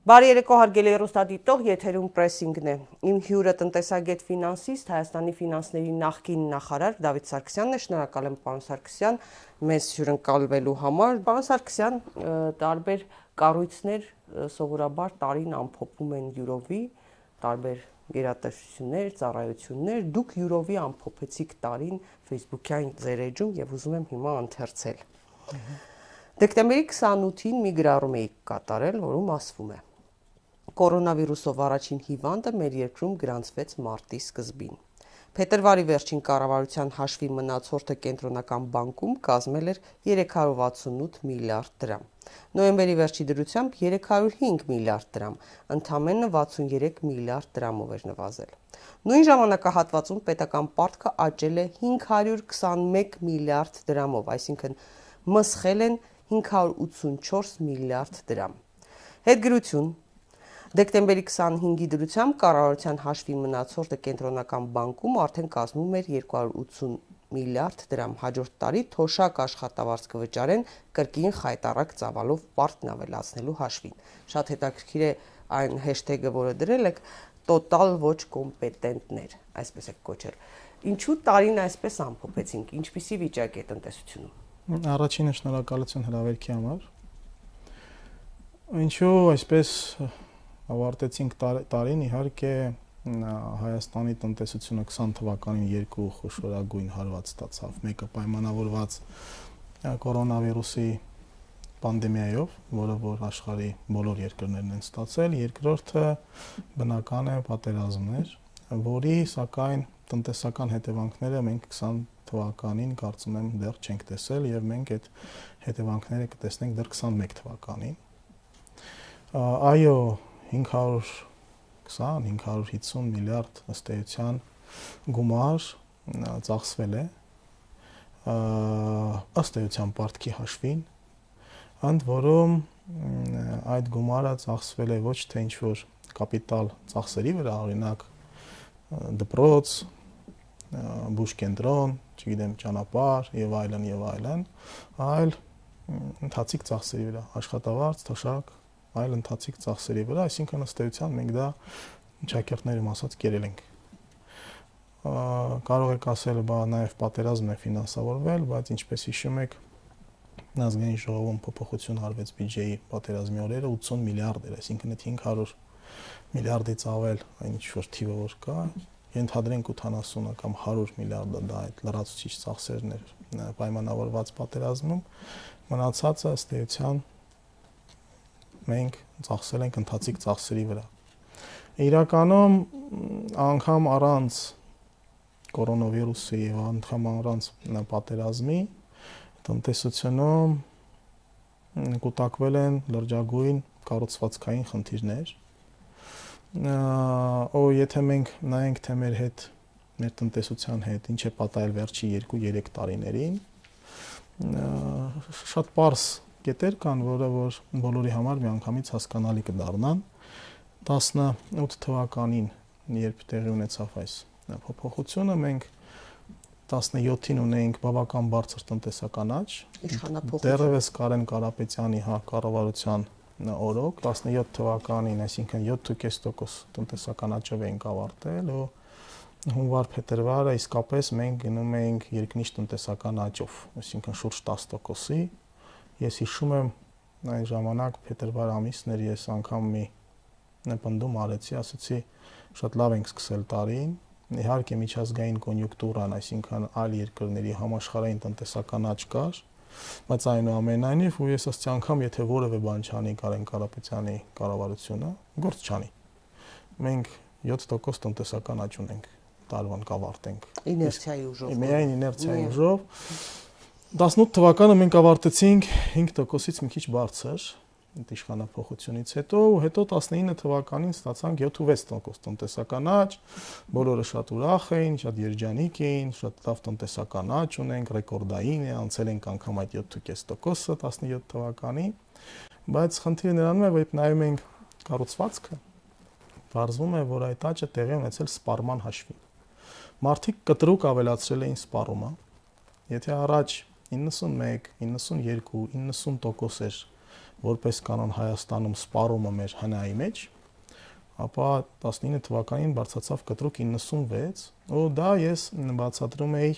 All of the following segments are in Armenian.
Բարի երեկո հարգելի հեռուստադիտող, եթերում պրեսինգն է։ Իմ հյուրը տնտեսագետ ֆինանսիստ, Հայաստանի ֆինանսների նախկին նախարար Դավիթ Սարգսյանն է, շնորհակալ եմ պարոն Սարգսյան մեզ հյուրընկալվելու համար։ Պարոն Սարգսյան, տարբեր կառույցներ սովորաբար տարին ամփոփում են յուրովի, տարբեր գերատեսչություններ, ծառայություններ, դուք յուրովի ամփոփեցիք տարին Facebook-յան ձեր էջում եւ ուզում եմ հիմա ընթերցել։ Դեկտեմբերի 28-ին մի գրառում էիք կատարել, որում ասվում է. Կորոնավիրուսով առաջին հիվանդը մեր երկրում գրանցվեց մարտի սկզբին։ Փետրվարի վերջին կառավարության հաշվի մնացորդը կենտրոնական բանկում կազմել էր 368 միլիարդ դրամ։ Նոյեմբերի վերջի դրությամբ 305 միլիարդ դրամ, ընդամենը 63 միլիարդ դրամով էր նվազել։ Նույն ժամանակահատվածում պետական պարտքը աճել է 521 միլիարդ դրամով, այսինքն մսխել են 584 միլիարդ դրամ։ Հետգրություն. Դեկտեմբերի 25-ի դրությամբ կառավարության հաշվի մնացորդը կենտրոնական բանկում արդեն կազմում էր 280 միլիարդ դրամ։ Հաջորդ տարի թոշակ աշխատավարձ կվճարեն կրկին խայտառակ ծավալով պարտքն ավելացնելու հաշվին։ Շատ հետաքրքիր է այն հեշթեգը, որը դրել եք, տոտալ ոչ կոմպետենտներ, այսպես եք կոչել։ Ինչու տարին այսպես ամփոփեցինք, ինչպիսի վիճակ է տնտեսությունում։ Առաջինը շնորհակալություն հրավերքի համար։ Ինչու այսպես ավարտեցինք տարին, իհարկե Հայաստանի տնտեսությունը 20 թվականին երկու խոշորագույն հարված ստացավ։ Մեկը պայմանավորված կորոնավիրուսի պանդեմիայով, որը որ աշխարհի բոլոր երկրներն են ստացել, երկրորդը բնական է պատերազմներ, որի սակայն տնտեսական հետևանքները մենք 20 թվականին կարծում եմ դեռ չենք տեսել եւ մենք այդ հետևանքները կտեսնենք դեռ 21 թվականին։ Այո, 520-550 միլիարդ ըստ էության գումար ծախսվել է ըստ էության պարտքի հաշվին, ընդ որում այդ գումարը ծախսվել է ոչ թե ինչ-որ կապիտալ ծախսերի վրա, օրինակ դպրոց, բուժկենտրոն, չգիտեմ, ճանապարհ եւ այլն, այլ ընթացիկ ծախսերի վրա, աշխատավարձ, թոշակ, այլ ընթացիկ ծախսերի վրա, այսինքն ըստ էության մենք դա շաքերտներում ասած կերել ենք։ Կարող եք ասել, բա նաև պատերազմն է ֆինանսավորվել, բայց ինչպես հիշում եք, ազգային ժողովում փոփոխություն արվեց բյուջեի պատերազմի օրերը 80 միլիարդ էր, այսինքն այդ 500 միլիարդից ավել այն ինչ-որ թիվը որ կա, ենթադրենք 80 կամ 100 միլիարդը դա այդ լրացուցիչ ծախսերն էր պայմանավորված պատերազմում, մնացածը ըստ էության մենք ծախսել ենք ընթացիկ ծախսերի վրա։ Իրականում անգամ առանց կորոնավիրուսի եւ անգամ առանց պատերազմի տնտեսությունում կուտակվել են լրջագույն կառուցվածքային խնդիրներ։ Եթե մենք նայենք թե մեր տնտեսության հետ ինչ է պատահել վերջի 2-3 տարիներին, շատ պարզ կետեր կան, որը որ բոլորի համար միանգամից հասկանալի կդառնան։ 18 թվականին, երբ տեղի ունեցավ այս փոփոխությունը, մենք 17-ին ունեինք բավական բարձր տնտեսական աճ, դեռևս Կարեն Կարապետյանի կառավարության օրոք 17 թվականին, այսինքն 7.5% տնտեսական աճով էինք ավարտել ու հունվար-փետրվարը իսկապես մենք գնում էինք երկնիշ տնտեսական աճով, այսինքն շուրջ 10%-ի։ Ես հիշում եմ այն ժամանակ փետրվար ամիսն էր, ես անգամ մի պնդում արեցի, ասացի շատ լավ ենք սկսել տարին, իհարկե միջազգային կոնյունկտուրան, այսինքն այլ երկրների համաշխարհային տնտեսական աճ կար, բայց այնուամենայնիվ ու ես ասացի անգամ եթե որևէ բան չանի Կարեն Կարապետյանի կառավարությունը, գործ չանի։ Մենք 7% տնտեսական աճ ունենք, տարվան կավարտենք։ Իներցիայի ուժով։ Միայն իներցիայի ուժով։ 18 թվականը մենք ավարտեցինք 5%-ից մի քիչ բարձր իշխանափոխությունից հետո 19 թվականին ստացանք 7-6% տնտեսական աճ, բոլորը շատ ուրախ էին, շատ երջանիկ էին, շատ լավ տնտեսական աճ ունենք, ռեկորդային է, անցել ենք անգամ այդ 7.5%-ը 17 թվականին, բայց խնդիրը նրանում է, որ երբ նայում ենք կառուցվածքը, բարձվում է, որ այդ աճը տեղի ունեցել սպառման հաշվին։ Մարդիկ կտրուկ ավելացրել էին սպառումը, եթե առաջ 91, 92, 90% էր որպես կանոն Հայաստանում սպառումը մեր հնայի մեջ, ապա 19 թվականին բարձրացավ կտրուկ 96, ու դա ես բացատրում էի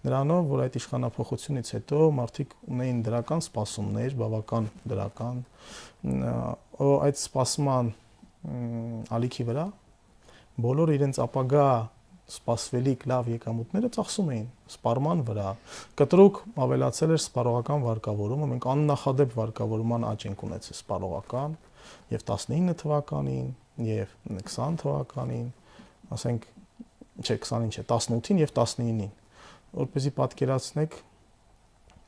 նրանով, որ այդ իշխանափոխությունից հետո մարդիկ ունեին դրական սպասումներ, բավական դրական, այդ սպասման ալիքի վրա բոլոր իրենց ապագա սպասվելիք լավ եկամուտները ծախսում էին սպառման վրա։ Կտրուկ ավելացել էր սպառողական վարկավորումը, մենք աննախադեպ վարկավորման աճ ենք ունեցել սպառողական եւ 19 թվականին եւ 20 թվականին, ասենք, չէ, 20-ին չէ, 18-ին եւ 19-ին, որպեսզի պատկերացնեք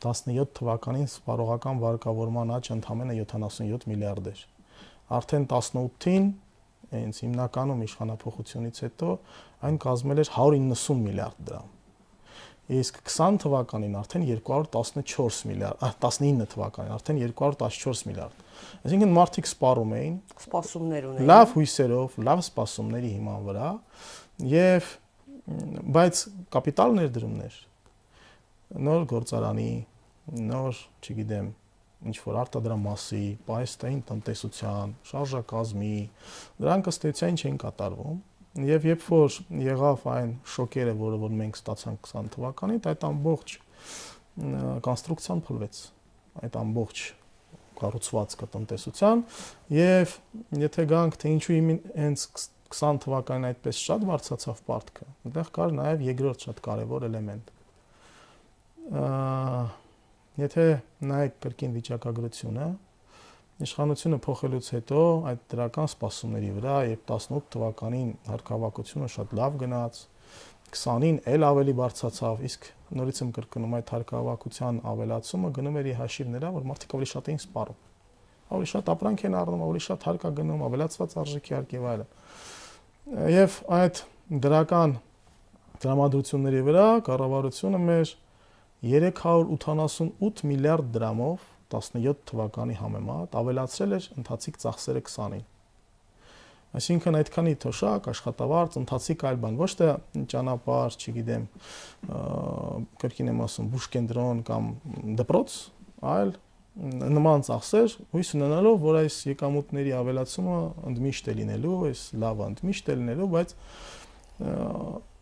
17 թվականին սպառողական վարկավորման աճը ընդամենը 77 միլիարդ էր։ Արդեն 18-ին, հենց հիմնականում իշխանափոխությունից հետո, այն կազմել էր 190 միլիարդ դրամ։ Իսկ 20 թվականին արդեն 214 միլիարդ, 19 թվականին արդեն 214 միլիարդ։ Այսինքն մարդիկ սպառում էին, սպասումներ ունեին, լավ հույսերով, լավ սպասումների հիման վրա, եւ բայց կապիտալ ներդրումներ, նոր գործարանի, նոր, չգիտեմ, ինչ որ արտադրամասի, պայստային տնտեսության, շարժակազմի, դրանք ըստ էության չէին կատարվում։ Եվ երբ որ եղավ այն շոկերը, որ մենք ստացանք 20 թվականին, այդ ամբողջ կոնստրուկցիան փլվեց, այդ ամբողջ կառուցվածքը տնտեսության, եւ եթե գանք թե ինչու հենց 20 թվականին այդպես շատ բարձրացավ պարտքը, այնտեղ կար նաեւ երկրորդ շատ կարեւոր էլեմենտ։ Եթե նայեք կրկին վիճակագրությունը, իշխանությունը փոխելուց հետո այդ դրական սպասումների վրա, երբ 18 թվականին հարկավակությունը շատ լավ գնաց, 20-ին էլ ավելի բարձրացավ, իսկ նորից եմ կրկնում, այդ հարկավակության ավելացումը գնում էր ի հաշիվ նրա, որ մարդիկ ավելի շատ էին սպառում, ավելի շատ ապրանք են առնում, ավելի շատ հարկ է գնում, ավելացված արժեքի հարկ եւ այլն։ Եվ այդ դրական տրամադրությունների վրա կառավարությունը մեր 388 միլիարդ դրամով 17 թվականի համեմատ ավելացրել էր ընթացիկ ծախսերը 20-ին։ Այսինքն այդքանի թոշակ, աշխատավարձ, ընթացիկ այլ բան, ոչ թե ճանապարհ, չգիտեմ, կրկին եմ ասում, բուժկենտրոն կամ դպրոց, այլ նման ծախսեր, հույս ունենալով, որ այս եկամուտների ավելացումը ընդմիշտ է լինելու, այս լավը ընդմիշտ է լինելու, բայց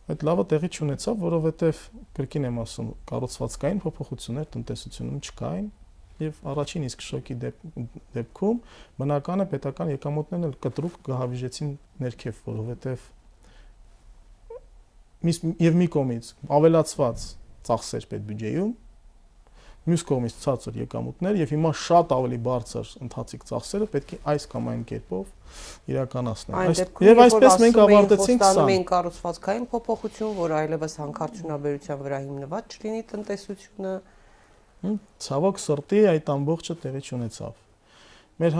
այդ լավը տեղի չունեցավ, որովհետև կրկին եմ ասում, կառուցվածքային փոփոխություններ տնտեսությունում չկային, եւ առաջին իսկ շոկի դեպքում բնական է պետական եկամուտներն էլ կտրուկ գահավիժեցին ներքև, որովհետև մի կողմից ավելացված ծախսեր պետբյուջեում, մյուս կողմից ցածր եկամուտներ եւ հիմա շատ ավելի բարձր ընթացիկ ծախսերը պետք է այս կամ այն կերպով իրականացնել։ Եվ այսպես մենք ավարտեցինք 20 կառուցվածքային փոփոխություն, որ այլևս հանքարդյունաբերության վրա հիմնված չլինի տնտեսությունը։ Ցավոք սրտի այդ ամբողջը տեղի չունեցավ։ Մեր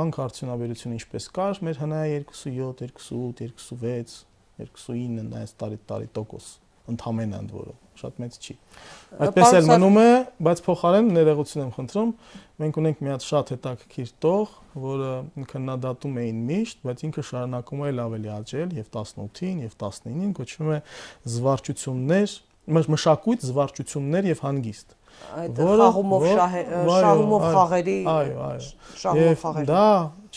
հանքարդյունաբերությունը ինչպես կար, մեր հնայի 27, 28, 26, 29 այս տարի% ընդհանրեն ընդ որում, շատ մեծ չի։ Այդպես էլ մնում է, բայց փոխարեն ներողություն եմ խնդրում, մենք ունենք մի հատ շատ հետաքրքիր տող, որը քննադատում էին միշտ, բայց ինքը շարունակում է ավելի աճել եւ 18-ին եւ 19-ին, կոչվում է զվարճություններ, մշակույթ, զվարճություններ եւ հանգիստ։ Շահումով խաղերի, եւ դա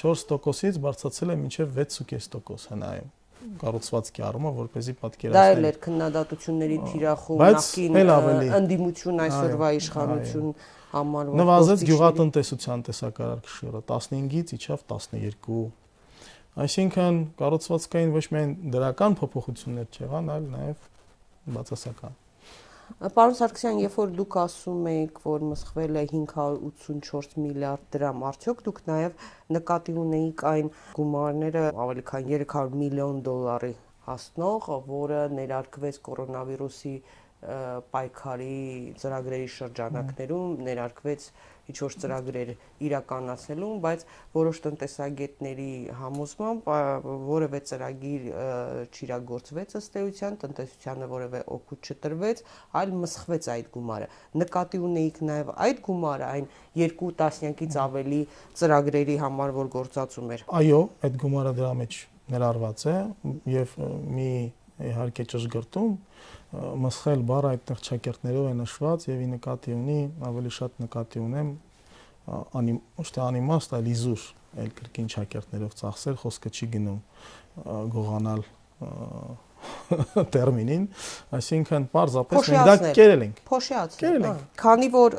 4%-ից բարձրացել է մինչեւ 6.5% հնայում կառուցվածքի առումով, որպեսզի պատկերացնենք։ Դա էլ էր քննադատությունների թիրախում, նախկին ընդդիմություն այսօրվա իշխանություն համարվող։ Նվազեց գյուղատնտեսության տեսակարար քշերը 15-ից իջավ 12։ Այսինքն կառուցվածքային ոչ միայն դրական փոփոխություններ չեղան, այլ նաեւ բացասական։ Պարոն Սարգսյան, երբ որ դուք ասում եք, որ մսխվել է 584 միլիարդ դրամ, արդյոք դուք նաև նկատի ունեիք այն գումարները ավելի քան 300 միլիոն դոլարի հասնող, որը ներարկվեց կորոնավիրուսի պայքարի ծրագրերի շրջանակներում, ներարկվեց ինչ-որ ծրագրեր իրականացնելուն, բայց որոշ տնտեսագետների համոզմամբ որևէ ծրագիր չիրագործվեց ըստ էության, տնտեսությանը որևէ օգուտ չտրվեց, այլ մսխվեց այդ գումարը։ Նկատի ունեիք նաև այդ գումարը, այն 2 տասնյակից ավելի ծրագրերի համար, որ գործածում էր։ Այո, այդ գումարը դրա մեջ ներառված է եւ մի իհարկե ճշգրտում մսխել բառը այդտեղ ճակերտներով է նշված եւ ի նկատի ունի, ավելի շատ նկատի ունեմ ոչ թե անիմաստ, այլ իզուր այլ կրկին շակերտներով ծախսել, խոսքը չի գնում գողանալ տերմինին, այսինքն պարզապես մենք դա կերել ենք։ Փոշիացնել։ Քանի որ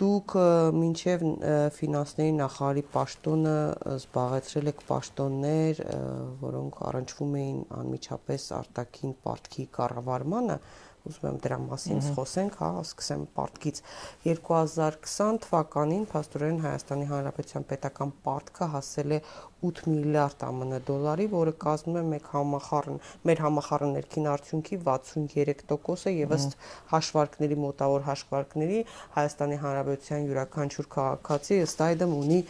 դուք մինչև ֆինանսների նախարարի պաշտոնը զբաղեցրել եք պաշտոններ, որոնք առնչվում էին անմիջապես արտաքին պարտքի կառավարմանը, ուզում եմ դրա մասին խոսենք, հա, սկսեմ պարտքից։ 2020 թվականին փաստորեն Հայաստանի Հանրապետության պետական պարտքը հասել է 8 միլիարդ ԱՄՆ դոլարի, որը կազմում է մեր համախառն ներքին արդյունքի 63%-ը եւ ըստ հաշվարկների մոտավոր հաշվարկների Հայաստանի Հանրապետության յուրաքանչյուր քաղաքացի ըստ այդմ ունի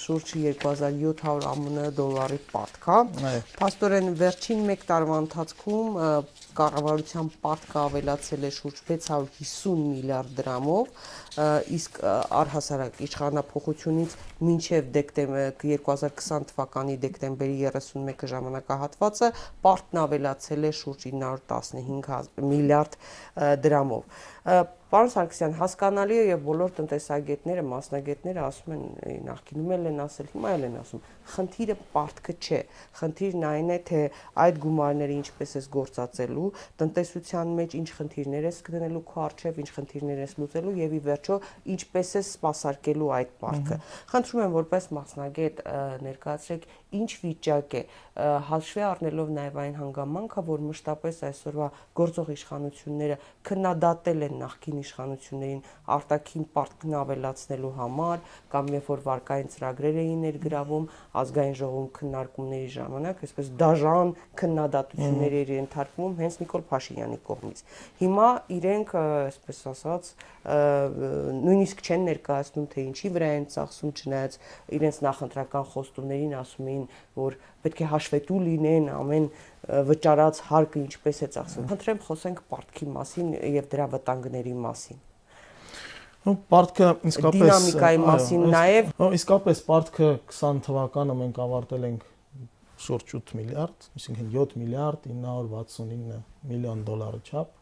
շուրջ 2700 ԱՄՆ դոլարի պարտք, հա։ Փաստորեն վերջին 1 տարվա ընթացքում կառավարության պարտքը ավելացել է շուրջ 650 միլիարդ դրամով, իսկ առհասարակ իշխանափոխությունից մինչև 2020 թվականի դեկտեմբերի 31-ը ժամանակահատվածը պարտքն ավելացել է շուրջ 915 միլիարդ դրամով։ Պարոն Սարգսյան, հասկանալի է եւ բոլոր տնտեսագետները, մասնագետները ասում են, նախկինում են ասել, հիմա էլ են ասում, խնդիրը պարտքը չէ, խնդիրն այն է, թե այդ գումարները ինչպես ես գործածելու, տնտեսության մեջ ինչ խնդիրներ ես գտնելու քո առջև, ինչ խնդիրներ ես լուծելու եւ ի վերջո ինչպես ես սպասարկելու այդ պարտքը։ Խնդրում եմ որպես մասնագետ ներկայացրեք ինչ վիճակ է, հաշվի առնելով նաեւ այն հանգամանքը, որ մշտապես այսօրվա գործող իշխանությունները քննադատել են նախկին իշխանություններին արտաքին պարտքն ավելացնելու համար, կամ երբ որ վարկային ծրագրեր էին ներգրավում ազգային ժողովում քննարկումների ժամանակ, այսպես դաժան քննադատություններ էր ենթարկվում հենց Նիկոլ Փաշինյանի կողմից։ Հիմա իրենք, այսպես ասած, նույնիսկ չեն ներկայացնում, թե ինչի վրա են ծախսում, չնայած իրենց նախընտրական խոստումներին ասում էին, որ պետք է հաշվետու լինեն ամեն վճարած հարկը ինչպես է ծախսվում։ Խնդրեմ խոսենք պարտքի մասին եւ դրա վտանգների մասին։ Պարտքը իսկապես դինամիկայի մասին նաեւ իսկապես պարտքը 20 թվականը մենք ավարտել ենք շուրջ 8 միլիարդ, այսինքն 7 միլիարդ 969 միլիոն դոլարի չափ։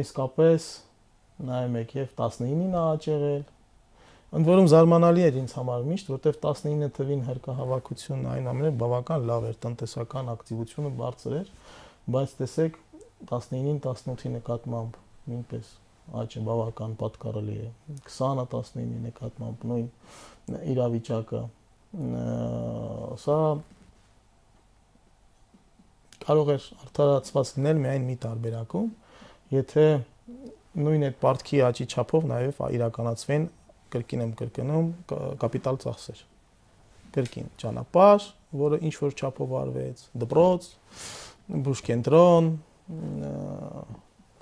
Իսկապես նայում եք եւ 19-ին աճ եղել։ Ընդ որում զարմանալի էր ինձ համար միշտ, որտեվ 19 թվին հարկահավաքությունն այն ամենը բավական լավ էր, տնտեսական ակտիվությունը բարձր էր, բայց տեսեք 19-ին 18-ի նկատմամբ նույնպես աճը բավական պատկառելի է, 20-ը 19-ի նկատմամբ նույն իրավիճակը, սա կարող է արդարացված լինել միայն մի տարբերակում, եթե նույն այդ պարտքի աճի չափով նաև իրականացվեն կրկին եմ կրկնում կապիտալ ծախսեր, կրկին ճանապարհ, որը ինչ որ չափով արվեց, դպրոց, բուժկենտրոն,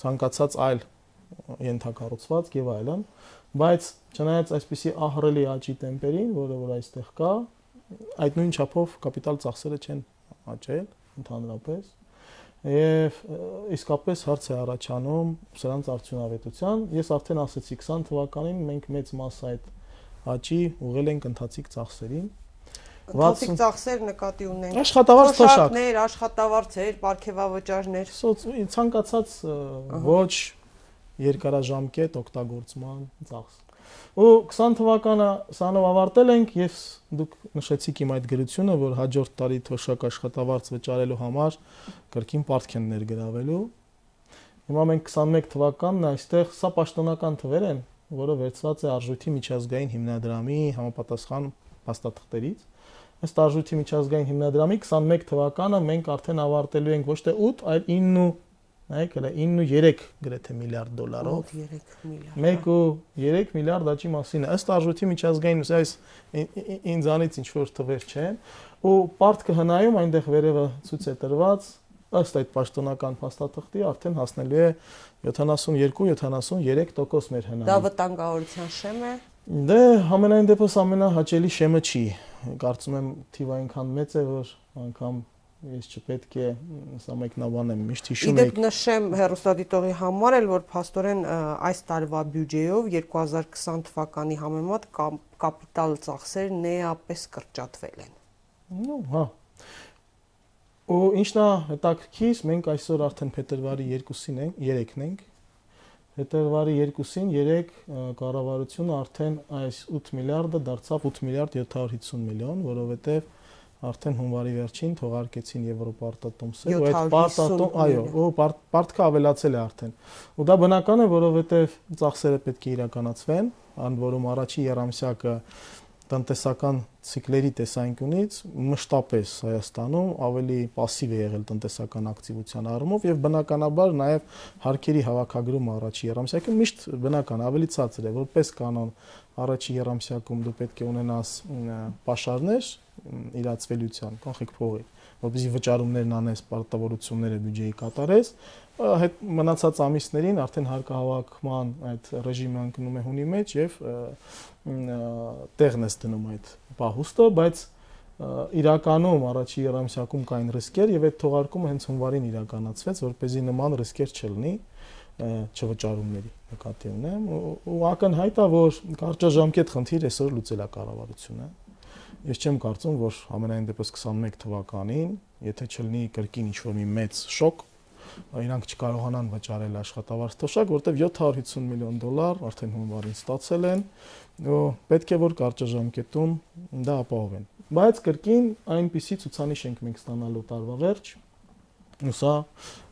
ցանկացած այլ ենթակառուցվածք եւ այլն, բայց չնայած այսպիսի ահռելի աճի տեմպերին, որը որ այստեղ կա, այդ նույն չափով կապիտալ ծախսերը չեն աճել ընդհանրապես եւ իսկապես հարց է առաջանում սրանց արդյունավետության։ Ես արդեն ասացի 20 թվականին մենք մեծ մասը այդ աճի ուղղել ենք ընթացիկ ծախսերին։ Ընթացիկ ծախսեր նկատի ունենք աշխատավարձ թոշակներ, աշխատավարձեր, պարգևավճարներ, ցանկացած ոչ երկարաժամկետ օգտագործման ծախս։ Ու 20 թվականը սանով ավարտել ենք, ես դուք նշեցիք իմ այդ գրությունը, որ հաջորդ տարի թոշակ աշխատավարձ վճարելու համար կրկին պարտք են ներգրավելու։ Հիմա մենք 21 թվականն այստեղ սա պաշտոնական թվեր են, որը վերցված է Արժույթի միջազգային հիմնադրամի համապատասխան փաստաթղթերից։ Ըստ Արժույթի միջազգային հիմնադրամի 21 թվականը մենք արդեն ավարտելու ենք ոչ թե 8, այլ 9 Նայեք, հələ 9.3 գրեթե միլիարդ դոլարով։ 1.3 միլիարդ աճի մասին է։ Ըստ Արժույթի միջազգային, այս ինձանից ինչ որ թվեր չեն, ու պարտքը հնայում այնտեղ վերևը ցույց է տրված, ըստ այդ պաշտոնական փաստաթղթի արդեն հասնելու է 72-73% մեր հնայում։ Դա վտանգավորության շեմ է։ Դե համենայն դեպս ամենահաճելի շեմը չի։ Կարծում եմ թիվը այնքան մեծ է, որ անգամ ես չպետք է սա մեկնաբանեմ, միշտ հիշում եք։ Իդեպ նշեմ հեռուստադիտողի համար էլ, որ փաստորեն այս տարվա բյուջեով 2020 թվականի համեմատ կապիտալ ծախսերն էապես կրճատվել են։ Հա։ Ու ինչն է հետաքրքիր, մենք այսօր արդեն փետրվարի 2-ին ենք, 3-ն ենք, Հետևարի 2-ին 3 կառավարությունը արդեն այս 8 միլիարդը դարձավ 8 միլիարդ 750 միլիոն, որովհետև արդեն հունվարի վերջին թողարկեցին Եվրոպարտատոմսը, ու այդ պարտատոմ, այո, պարտքը ավելացել է արդեն։ Ու դա բնական է, որովհետև ծախսերը պետք է իրականացվեն, ընդ որում առաջի երամսյակը տնտեսական ցիկլերի տեսանկյունից մշտապես Հայաստանում ավելի пассив է եղել տնտեսական ակտիվության առումով եւ բնականաբար նաեւ հարկերի հավաքագրումը առաջի երամսյակը միշտ բնական ավելի ցածր է, որպես կանոն առաջի երամսյակում դու պետք է ունենաս պաշարներ իրացվելիության, կանխիկ փողի, որպեսզի վճարումներն անես, պարտավորությունները բյուջեի կատարես, հետ մնացած ամիսներին արդեն հարկահավաքման այդ ռեժիմը ընկնում է հունի մեջ եւ տեղն է դնում այդ պահուստը, բայց իրականում առաջի երամսյակում կային ռիսկեր եւ այդ թողարկումը հենց հունվարին իրականացվեց, որպեսզի նման ռիսկեր չլինի չվճարումների նկատի ունեմ ու ակնհայտ է, որ կարճաժամկետ խնդիր այսօր լուծել է կառավարությունը։ Ես չեմ կարծում, որ ամենայն դեպս 21 թվականին, եթե չլինի կրկին ինչ-որ մի մեծ շոկ, իրանք չկարողանան վճարել աշխատավարձ թոշակ, որտեղ 750 միլիոն դոլար արդեն հունվարին ստացել են, ու պետք է որ կարճաժամկետում դա ապահովեն։ Բայց կրկին այնպիսի ցուցանիշ ենք մենք ստանալու տարվա վերջ, ու սա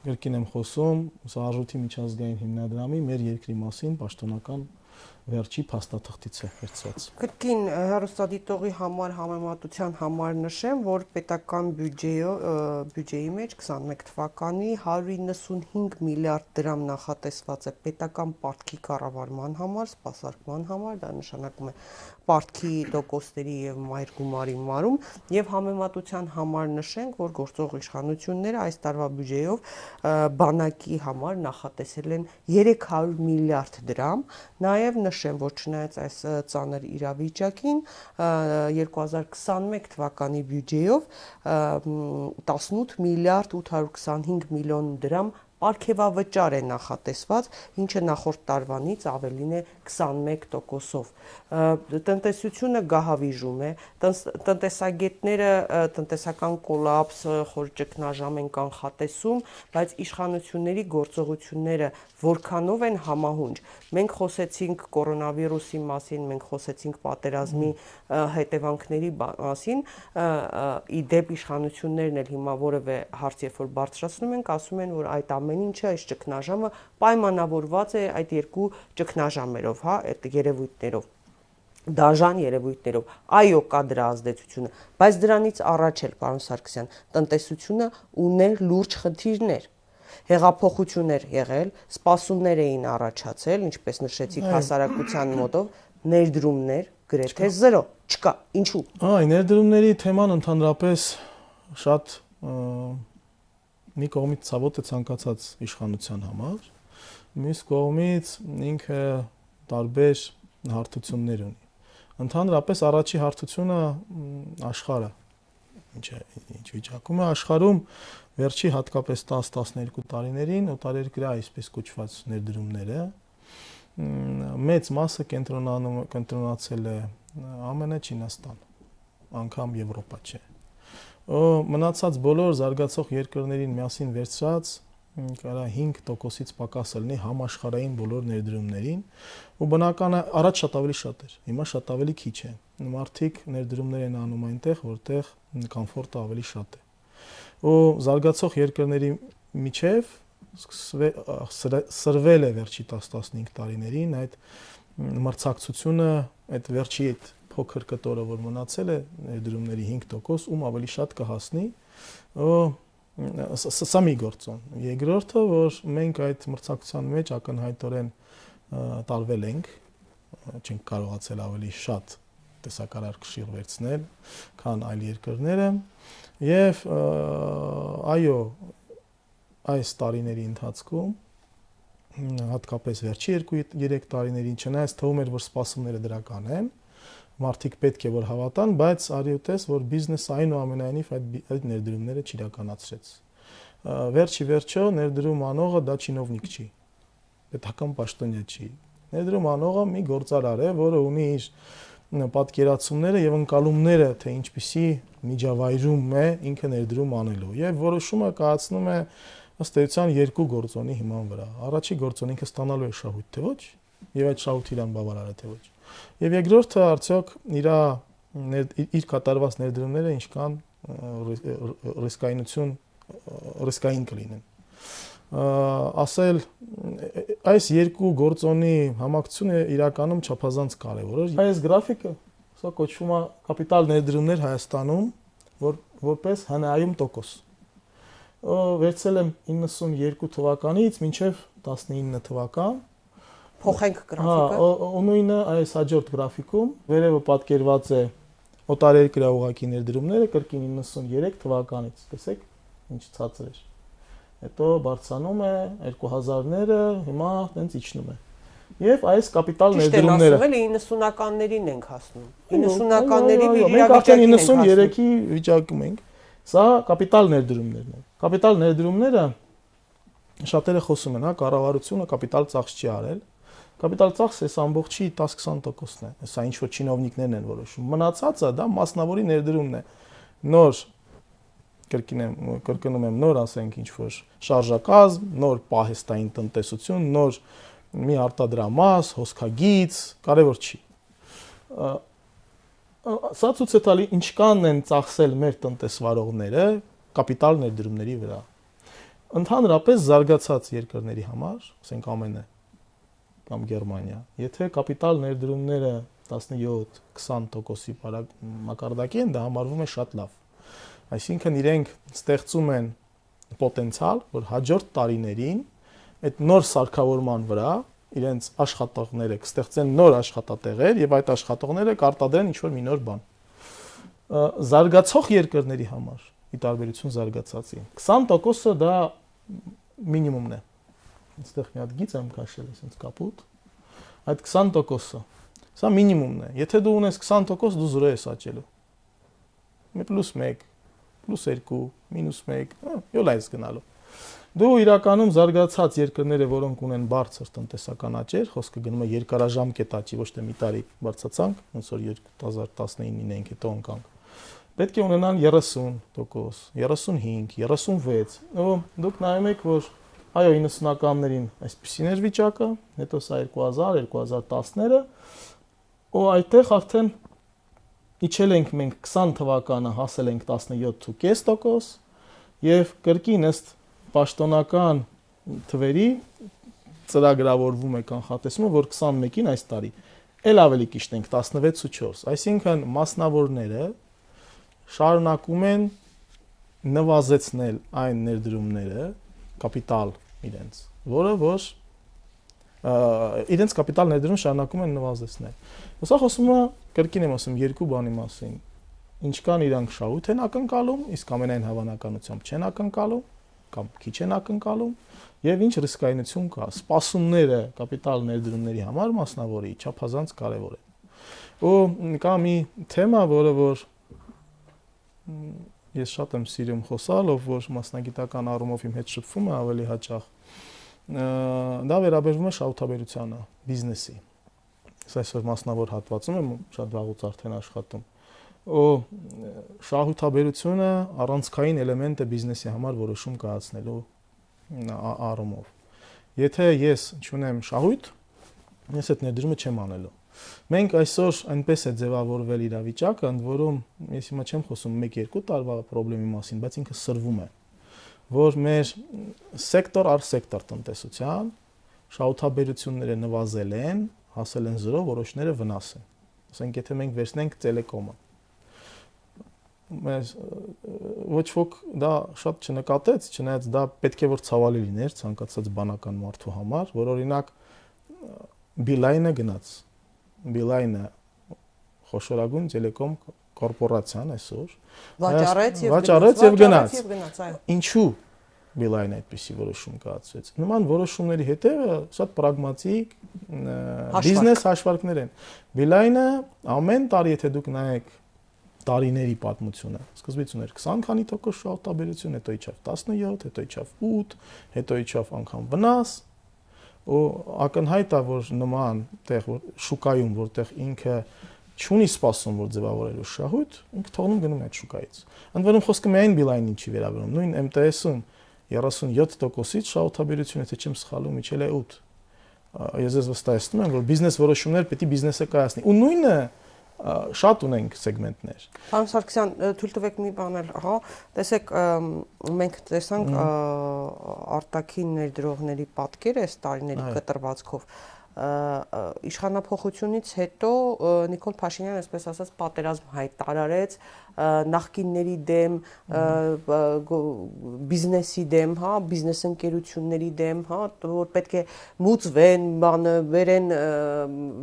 կրկին եմ խոսում, սա արժույթի միջազգային հիմնադրամի մեր երկրի մասին պաշտոնական վերջի փաստաթղթից է վերցված։ Կրկին հեռուստադիտողի համար համեմատության համար նշեմ, որ պետական բյուջեի մեջ 21 թվականի 195 միլիարդ դրամ նախատեսված է պետական պարտքի կառավարման համար, սպասարկման համար, դա նշանակում է պարտքի տոկոսների եւ մայր գումարի մարում, եւ համեմատության համար նշենք, որ գործող իշխանությունները այս տարվա բյուջեով բանակի համար նախատեսել են 300 միլիարդ դրամ, նաեւ նշեմ, որ չնայած այս ծանր իրավիճակին 2021 թվականի բյուջեով 18 միլիարդ 825 միլիոն դրամ պարգևավճար է նախատեսված, ինչը նախորդ տարվանից ավելին է 21%-ով։ Տնտեսությունը գահավիժում է, տնտեսագետները տնտեսական կոլապս, խոր ճգնաժամ են կանխատեսում, բայց իշխանությունների գործողությունները որքանով են համահունչ։ Մենք խոսեցինք կորոնավիրուսի մասին, մենք խոսեցինք պատերազմի հետևանքների մասին, իդեպ իշխանություններն էլ հիմա որևէ հարց երբ որ բարձրացնում ենք, ասում են, որ այդ ամեն ինչը, այս ճգնաժամը պայմանավորված է այդ երկու ճգնաժամերով, հա, այդ երևույթներով, դաժան երևույթներով, այո, կա դրա ազդեցությունը, բայց դրանից առաջ էլ, պարոն Սարգսյան, տնտեսությունը ուներ լուրջ խնդիրներ, հեղափոխություն էր եղել, սպասումներ էին առաջացել, ինչպես նշեցիք հասարակության մոտով, ներդրումներ գրեթե 0, չկա, ինչու։ Ներդրումների թեման ընդհանրապես շատ մի կողմից ցավոտ է ցանկացած իշխանության համար, մյուս կողմից ինքը տարբեր հարթություններ ունի։ Ընդհանրապես առաջի հարթությունը աշխարհը, ինչ վիճակում է աշխարհում վերջի հատկապես 10-12 տարիներին օտարերկրյա այսպես կոչված ներդրումները մեծ մասը կենտրոնացել է ԱՄՆ, Չինաստան, անգամ Եվրոպա չէ։ Մնացած բոլոր զարգացող երկրներին միասին վերցրած կարա 5%-ից պակաս լինի համաշխարհային բոլոր ներդրումներին, ու բնական է առաջ շատ ավելի շատ էր, հիմա շատ ավելի քիչ է։ Մարդիկ ներդրումներ են անում այնտեղ, որտեղ կոմֆորտը ավելի շատ է։ Ու զարգացող երկրների միջև սրվել է վերջի 10-15 տարիներին այդ մրցակցությունը, այդ վերջի այդ փոքր կտորը, որ մնացել է ներդրումների 5%, ում ավելի շատ կհասնի, սա մի գործոն։ Երկրորդը, որ մենք այդ մրցակցության մեջ ակնհայտորեն տարվել ենք, չենք կարողացել ավելի շատ տեսակարար կշիռ վերցնել, քան այլ երկրները, եւ այո, այս տարիների ընթացքում հատկապես վերջի 2-3 տարիներին չնայած թվում էր, որ սպասումները դրական են, մարդիկ պետք է որ հավատան, բայց արի ու տես, որ բիզնեսը այնուամենայնիվ այդ ներդրումները չիրականացրեց։ Վերջի վերջո ներդրում անողը դա չինովնիկ չի, պետական պաշտոնյա չի։ Ներդրում անողը մի գործարար է, որը ունի իր պատկերացումները եւ ընկալումները, թե ինչպիսի միջավայրում է ինքը ներդրում անելու, եւ որոշումը կայացնում է ըստ էության երկու գործոնի հիման վրա։ Առաջի գործոնը ինքը ստանալու է շահույթ, թե ոչ, եւ այդ շահույթը իրան բավարար է, թե ոչ։ Եվ երկրորդը արդյոք իր կատարված ներդրումները ինչքան ռիսկային կլինեն։ Ասել այս երկու գործոնի համակցությունը իրականում չափազանց կարևոր է։ Այս գրաֆիկը սա կոչվում է կապիտալ ներդրումներ Հայաստանում, որպես ՀՆԱ-ում տոկոս։ Վերցել եմ 92 թվականից մինչև 19 թվական։ Փոխենք գրաֆիկը։ Նույնը այս հաջորդ գրաֆիկում վերևը պատկերված է օտարերկրյա ուղղակի ներդրումները կրկին 93 թվականից, տեսեք, ինչ ցածր էր։ Հետո բարձրանում է 2000-ները, հիմա տենց իջնում է։ Եվ այս կապիտալ ներդրումները 90-ականներին ենք հասնում։ 90-ականների մենք արդեն 93-ի վիճակում ենք։ Սա կապիտալ ներդրումներն են։ Կապիտալ ներդրումները շատերը խոսում են, հա, կառավարությունը կապիտալ ծախս չի արել։ Կապիտալ ծախսը այս ամբողջի 10-20%-ն է։ Սա ինչ որ չինովնիկներն են որոշում։ Մնացածը դա մասնավորի ներդրումն է։ Նոր կրկնում եմ, նոր ասենք ինչ որ շարժակազմ, նոր պահեստային տնտեսություն, նոր մի արտադրամաս, հոսքագիծ, կարևոր չի։ Սա ցույց է տալի ինչքան են ծախսել մեր տնտեսվարողները կապիտալ ներդրումների վրա։ Ընդհանրապես զարգացած երկրների համար, ասենք ԱՄՆ կամ Գերմանիա, եթե կապիտալ ներդրումները 17-20%-ի մակարդակի են, դա համարվում է շատ լավ։ Այսինքն իրենք ստեղծում են պոտենցիալ, որ հաջորդ տարիներին այդ նոր սարքավորման վրա իրենց աշխատողները կստեղծեն նոր աշխատատեղեր եւ այդ աշխատողները կարտադրեն ինչ-որ մի նոր բան։ Զարգացող երկրների համար, ի տարբերություն զարգացածի, 20%-ը դա մինիմումն է։ Այստեղ մի հատ գիծ եմ քաշել, այսպես կապուտ։ Այդ 20%-ը, սա մինիմումն է։ Եթե դու ունես 20%, դու 0 ես աճելու։ +1, +2, -1, յոլ այս գնալու։ Դու իրականում զարգացած երկրները, որոնք ունեն բարձր տնտեսական աճեր, խոսքը գնում է երկարաժամկետ աճի, ոչ թե մի տարի բարձրացանք, ոնց որ 2019-ին ենք հետո ընկանք։ Պետք է ունենան 30%, 35, 36։ Դուք նայում եք, որ այո 90-ականներին այսպեսին էր վիճակը, հետո սա 2000, 2010-ները, այդտեղ արդեն իջել ենք մենք 20 թվականը հասել ենք 17.5% եւ կրկին ըստ պաշտոնական թվերի ծրագրավորվում է կանխատեսումը, որ 21-ին այս տարի էլ ավելի կիշտ ենք 16.4, այսինքն մասնավորները շարունակում են նվազեցնել այն ներդրումները կապիտալ իրենց, որը որ իրենց կապիտալ ներդրում շարունակում են նվազեցնել։ Սա խոսում է կրկին եմ ասում երկու բանի մասին։ Ինչքան իրանք շահույթ են ակնկալում, իսկ ամենայն հավանականությամբ չեն ակնկալում կամ քիչ են ակնկալում, եւ ինչ ռիսկայնություն կա։ Սպասումները կապիտալ ներդրումների համար մասնավորի չափազանց կարեւոր է։ Ու կա մի թեմա, որը որ ես շատ եմ սիրում խոսալ, ով որ մասնագիտական առումով իմ հետ շփվում է ավելի հաճախ, դա վերաբերվում է շահութաբերությանը, բիզնեսի։ Ես այսօր մասնավոր հատվածում եմ շատ վաղուց արդեն աշխատում։ Շահութաբերությունը առանցքային էլեմենտ է բիզնեսի համար որոշում կայացնելու առումով։ Եթե ես չունեմ շահույթ, ես այդ ներդրումը չեմ անելու։ Մենք այսօր այնպես է ձևավորվել իրավիճակը, ընդ որում ես հիմա չեմ խոսում 1-2 տարվա խնդրի մասին, բայց ինքը սրվում է, որ մեր սեկտոր առ սեկտոր տնտեսության շահութաբերությունները նվազել են, հասել են 0, որոշները վնաս են։ Ասենք եթե մենք վերցնենք տելեկոմը, մեզ ոչ ոք դա շատ չնկատեց, չնայած դա պետք է որ ցավալի լիներ ցանկացած բանական մարդու համար, որ օրինակ Beeline-ը գնաց Beeline-ը խոշորագույն տելեկոմ կորպորացիան այսօր վաճառեց եւ գնաց։ Ինչու Beeline-ը այդպիսի որոշում կայացրեց։ Նման որոշումների հետևը շատ պրագմատիկ բիզնես հաշվարկներ են։ Beeline-ը ամեն տարի եթե դուք նայեք տարիների պատմությունը, սկզբից ուներ 20 քանի տոկոս շահութաբերություն, հետո իջավ 17, հետո իջավ 8, հետո իջավ անգամ վնաս։ Ու ակնհայտ է, որ նման տեղ շուկայում, որտեղ ինքը չունի սպասում, որ ձևավորելու շահույթ, ինքը թողնում գնում է այդ շուկայից։ Ընդ որում խոսքը միայն Beeline-ին չի վերաբերում, նույն MTS-ում 37%-ից շահութաբերությունը, եթե չեմ սխալվում, իջել է 8։ Ես վստահեցնում եմ, որ բիզնես որոշումներ պետք է բիզնեսը կայացնի։ Ու նույնը շատ ունենք սեգմենտներ։ Պարոն Սարգսյան, թույլ տվեք մի բան էլ, ահա, տեսեք, մենք տեսանք արտաքին ներդրողների պատկերը այս տարիների կտրվածքով իշխանափոխությունից հետո Նիկոլ Փաշինյանը, այսպես ասած, պատերազմ հայտարարեց նախկինների դեմ, բիզնեսի դեմ, հա, բիզնես ընկերությունների դեմ, հա, որ պետք է մուծվեն, բանը վերեն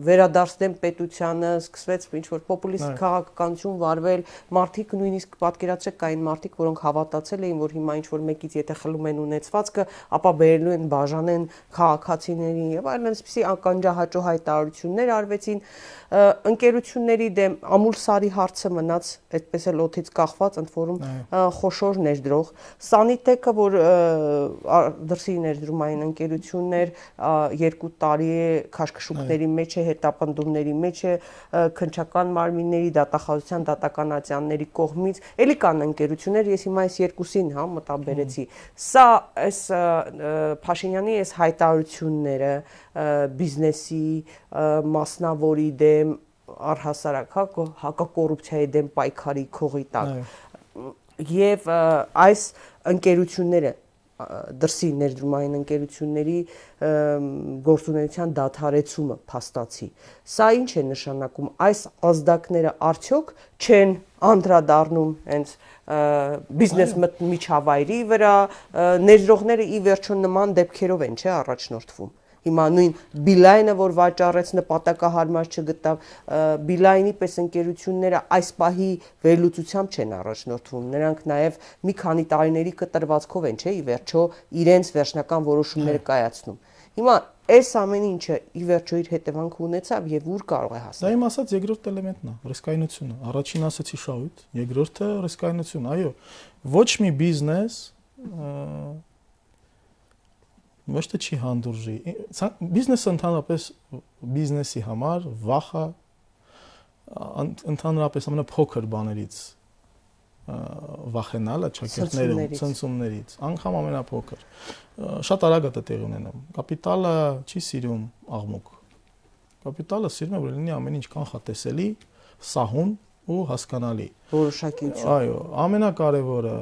վերադարձնեն պետությանը, սկսվեց ինչ-որ պոպուլիստ քաղաքականություն վարվել, մարդիկ նույնիսկ պատկերացրեք կային մարդիկ, որոնք հավատացել էին, որ հիմա ինչ-որ մեկից եթե խլում են ունեցվածքը, ապա բերելու են բաժանեն քաղաքացիներին եւ այլն, այսպիսի ականջահաճո հայտարարություններ արվեցին ընկերությունների դեմ ամուլսարի հարցը մնաց այդպես էլ օդից կախված ընդ որում խոշոր ներդրող Սանիտեկը, որ դրսի ներդրումային ընկերություններ 2 տարի է քաշքշուկների մեջ է, հետապնդումների մեջ է, քննչական մարմինների, դատախազության դատականատյանների կողմից, էլի կան ընկերություններ, ես հիմա այս երկուսին հա մտաբերեցի։ Սա այս Փաշինյանի այս հայտարարությունները բիզնեսի մասնավորի դեմ առհասարակ հակակոռուպցիայի դեմ պայքարի քողի տակ եւ այս ընկերությունները դրսի ներդրումային ընկերությունների գործունեության դադարեցումը փաստացի սա ինչ է նշանակում այս ազդակները արդյոք չեն անդրադառնում հենց բիզնես միջավայրի վրա ներդրողները ի վերջո նման դեպքերով են չէ առաջնորդվում Հիմա նույն Բիլայնը, որ վաճառեց նպատակահարմար չգտավ, Բիլայնի պես ընկերությունները այս պահի վերլուծությամբ չեն առաջնորդվում։ Նրանք նաև մի քանի տարիների կտրվածքով են, չէ՞, ի վերջո իրենց վերջնական որոշումները կայացնում։ Հիմա այս ամեն ինչը ի վերջո իր հետևանք ունեցավ եւ ուր կարող է հասնել։ Դա իմ ասած երկրորդ էլեմենտն է, ռիսկայնությունը։ Առաջին ասացի շահույթ, երկրորդը ռիսկայնություն։ Այո, ոչ մի բիզնես ոչ թե չի հանդուրժի բիզնեսը ընդհանրապես բիզնեսի համար վախը ընդհանրապես ամենափոքր բաներից վախենալը ճակերտներում ցնցումներից անգամ ամենափոքր շատ արագ է տեղի ունենում կապիտալը չի սիրում աղմուկ կապիտալը սիրում է որ լինի ամեն ինչ կանխատեսելի սահուն ու հասկանալի որոշակիություն այո ամենակարևորը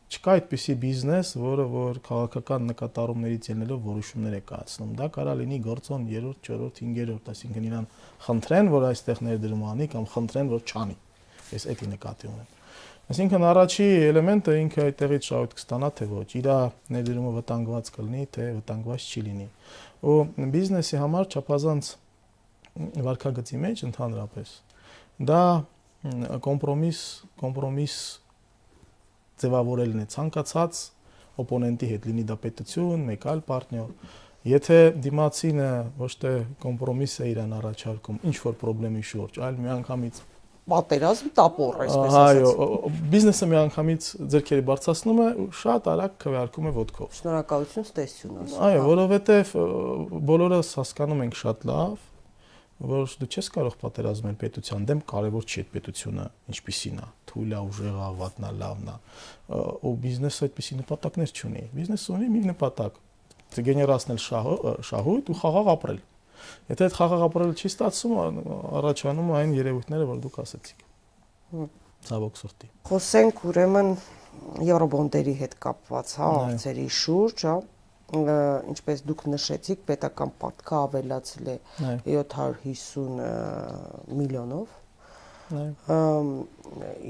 Չկա այդպիսի բիզնես, որ քաղաքական նկատառումներից ելնելով որոշումներ է կայացնում։ Դա կարա լինի գործոն 3-րդ, 4-րդ, 5-րդ, այսինքն իրան խնդրեն, որ այստեղ ներդրում անի կամ խնդրեն, որ չանի։ Ես էդի նկատի ունեմ։ Այսինքն առաջի էլեմենտը ինքը այդտեղից շահույթ կստանա, թե ոչ, իր ներդրումը վտանգված կլինի, թե վտանգված չի լինի։ Ու բիզնեսի համար չափազանց վարքագծի մեջ ընդհանրապես դա կոմպրոմիս ձևավորելն է ցանկացած օպոնենտի հետ լինի դա պետություն, մեկ այլ պարտներ, եթե դիմացինը ոչ թե կոմպրոմիս է իրան առաջարկում, ինչ որ խնդրի շուրջ, այլ միանգամից պատերազմ տապոր, այսպես ասած։ Այո, բիզնեսը միանգամից ձեռքերի բարձրացնում է ու շատ արագ քվեարկում է ոտքով։ Շնորհակալություն, ստեսություն։ Այո, որովհետև բոլորս հասկանում ենք շատ լավ, որ դու չես կարող պատերազմել պետության դեմ, կարևոր չի այդ պետությունը ինչպիսին է, թույլ է, ուժեղ է, վատն է, լավն է, ու բիզնեսը այդպիսի նպատակներ չունի։ Բիզնեսը ունի մի նպատակ՝ գեներացնել շահույթ ու խաղաղ ապրել։ Եթե այդ խաղաղ ապրելը չի ստացվում, առաջանում այն երևույթները, որ դուք ասացիք։ Ցավոք սրտի։ Խոսենք ուրեմն եվրոբոնդերի հետ կապված, հա, հարցերի շուրջ, հա։ Ինչպես դուք նշեցիք, պետական պարտքը ավելացել է 750 միլիոնով։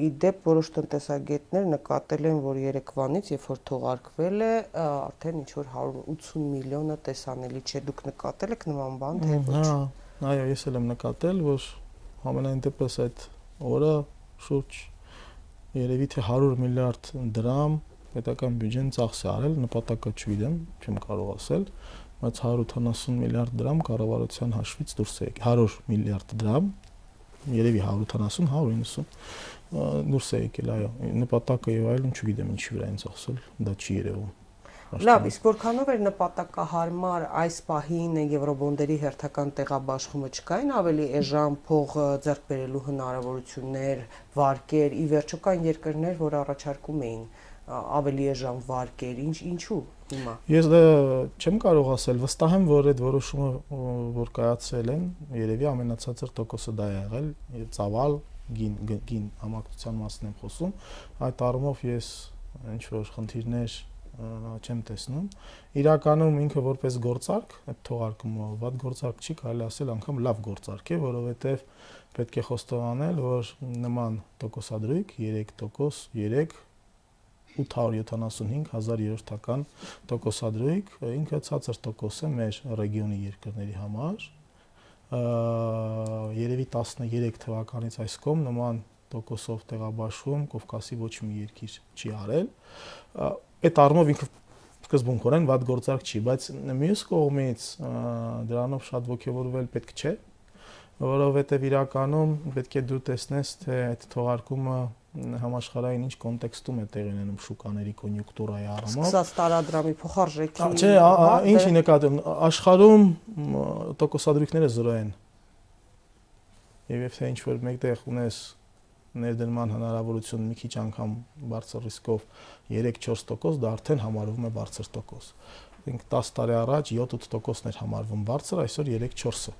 Իդեպ որոշ տնտեսագետներ նկատել են, որ երեկվանից, երբ որ թողարկվել է, արդեն ինչ-որ 180 միլիոնը տեսանելի չէ։ Դուք նկատել եք նման բան, թե ոչ։ Այո, ես էլ եմ նկատել, որ ամենայն դեպս այդ օրը շուրջ երևի թե 100 միլիարդ դրամ պետական բյուջեն ծախս է արել, նպատակը չգիտեմ, չեմ կարող ասել, բայց 180 միլիարդ դրամ կառավարության հաշվից դուրս է եկել, 100 միլիարդ դրամ, երևի 180, 190 դուրս է եկել, այո, նպատակը եւ այլն չգիտեմ ինչի վրա են ծախսել, դա չի երևում։ Լավ, իսկ որքանով էր նպատակահարմար այս պահին եվրոբոնդերի հերթական տեղաբաշխումը չկային ավելի էժան փող ձեռք բերելու հնարավորություններ, վարկեր, ի վերջո կան երկրներ, որ առաջարկում էին ավելի էժան վարկեր, ինչու հիմա։ Ես չեմ կարող ասել, վստահ եմ, որ այդ որոշումը որ կայացել են, երևի ամենացածր տոկոսը դա է եղել, ծավալ գին համակցության մասն եմ խոսում, այդ առումով ես ինչ որ խնդիրներ չեմ տեսնում։ Իրականում ինքը որպես գործարք, այդ թողարկումը վատ գործարք չի, կարելի ասել անգամ լավ գործարք է, որովհետև պետք է խոստովանել, որ նման տոկոսադրույք 3%, 875,000 տոկոսադրույք, ինքը ցածր տոկոս է մեր ռեգիոնի երկրների համար։ Երևի 13 թվականից այս կողմ նման տոկոսով տեղաբաշխում Կովկասի ոչ մի երկիր չի արել։ Այդ առումով ինքը սկզբունքորեն վատ գործարք չի, բայց մյուս կողմից դրանով շատ ողջավորվել պետք չէ, որովհետև իրականում պետք է դու տեսնես, թե այդ թողարկումը համաշխարհային ինչ կոնտեքստում է տեղի ունենում շուկաների կոնյունկտուրայի առումով։ Սկսած տարադրամի փոխարժեքի։ Չէ, ինչի նկատում աշխարհում տոկոսադրույքները 0 են։ Եվ թե ինչ որ մեկտեղ ունես ներդրման հնարավորություն մի քիչ անգամ բարձր ռիսկով 3-4%, դա արդեն համարվում է բարձր տոկոս։ Ինք 10 տարի առաջ 7-8%-ն էր համարվում բարձր, այսօր 3-4-ը։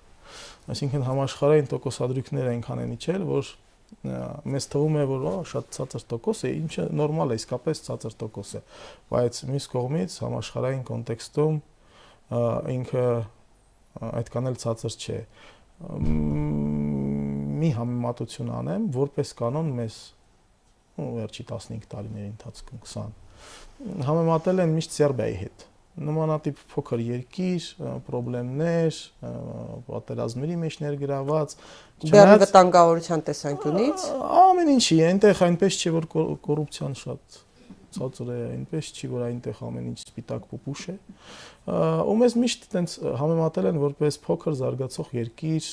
Այսինքն համաշխարհային տոկոսադրույքները այնքան են իջել, որ մեզ թվում է, որ շատ ցածր տոկոս է, ինչը նորմալ է, իսկապես ցածր տոկոս է, բայց մյուս կողմից համաշխարհային կոնտեքստում ինքը այդքան էլ ցածր չէ։ Մի համեմատություն անեմ, որպես կանոն մեզ վերջի 15 տարիների ընթացքում 20 համեմատել են միշտ Սերբիայի հետ։ Նմանատիպ փոքր երկիր, խնդիրներ, պատերազմների մեջ ներգրաված, Բեռի վտանգավորության տեսանկյունից ամեն ինչի, այնտեղ այնպես չի, որ կոռուպցիան շատ ցածր է, այնպես չի, որ այնտեղ ամեն ինչ սպիտակ պուպուշ է։ Ու մեզ միշտ այտենց համեմատել են որպես փոքր զարգացող երկիր,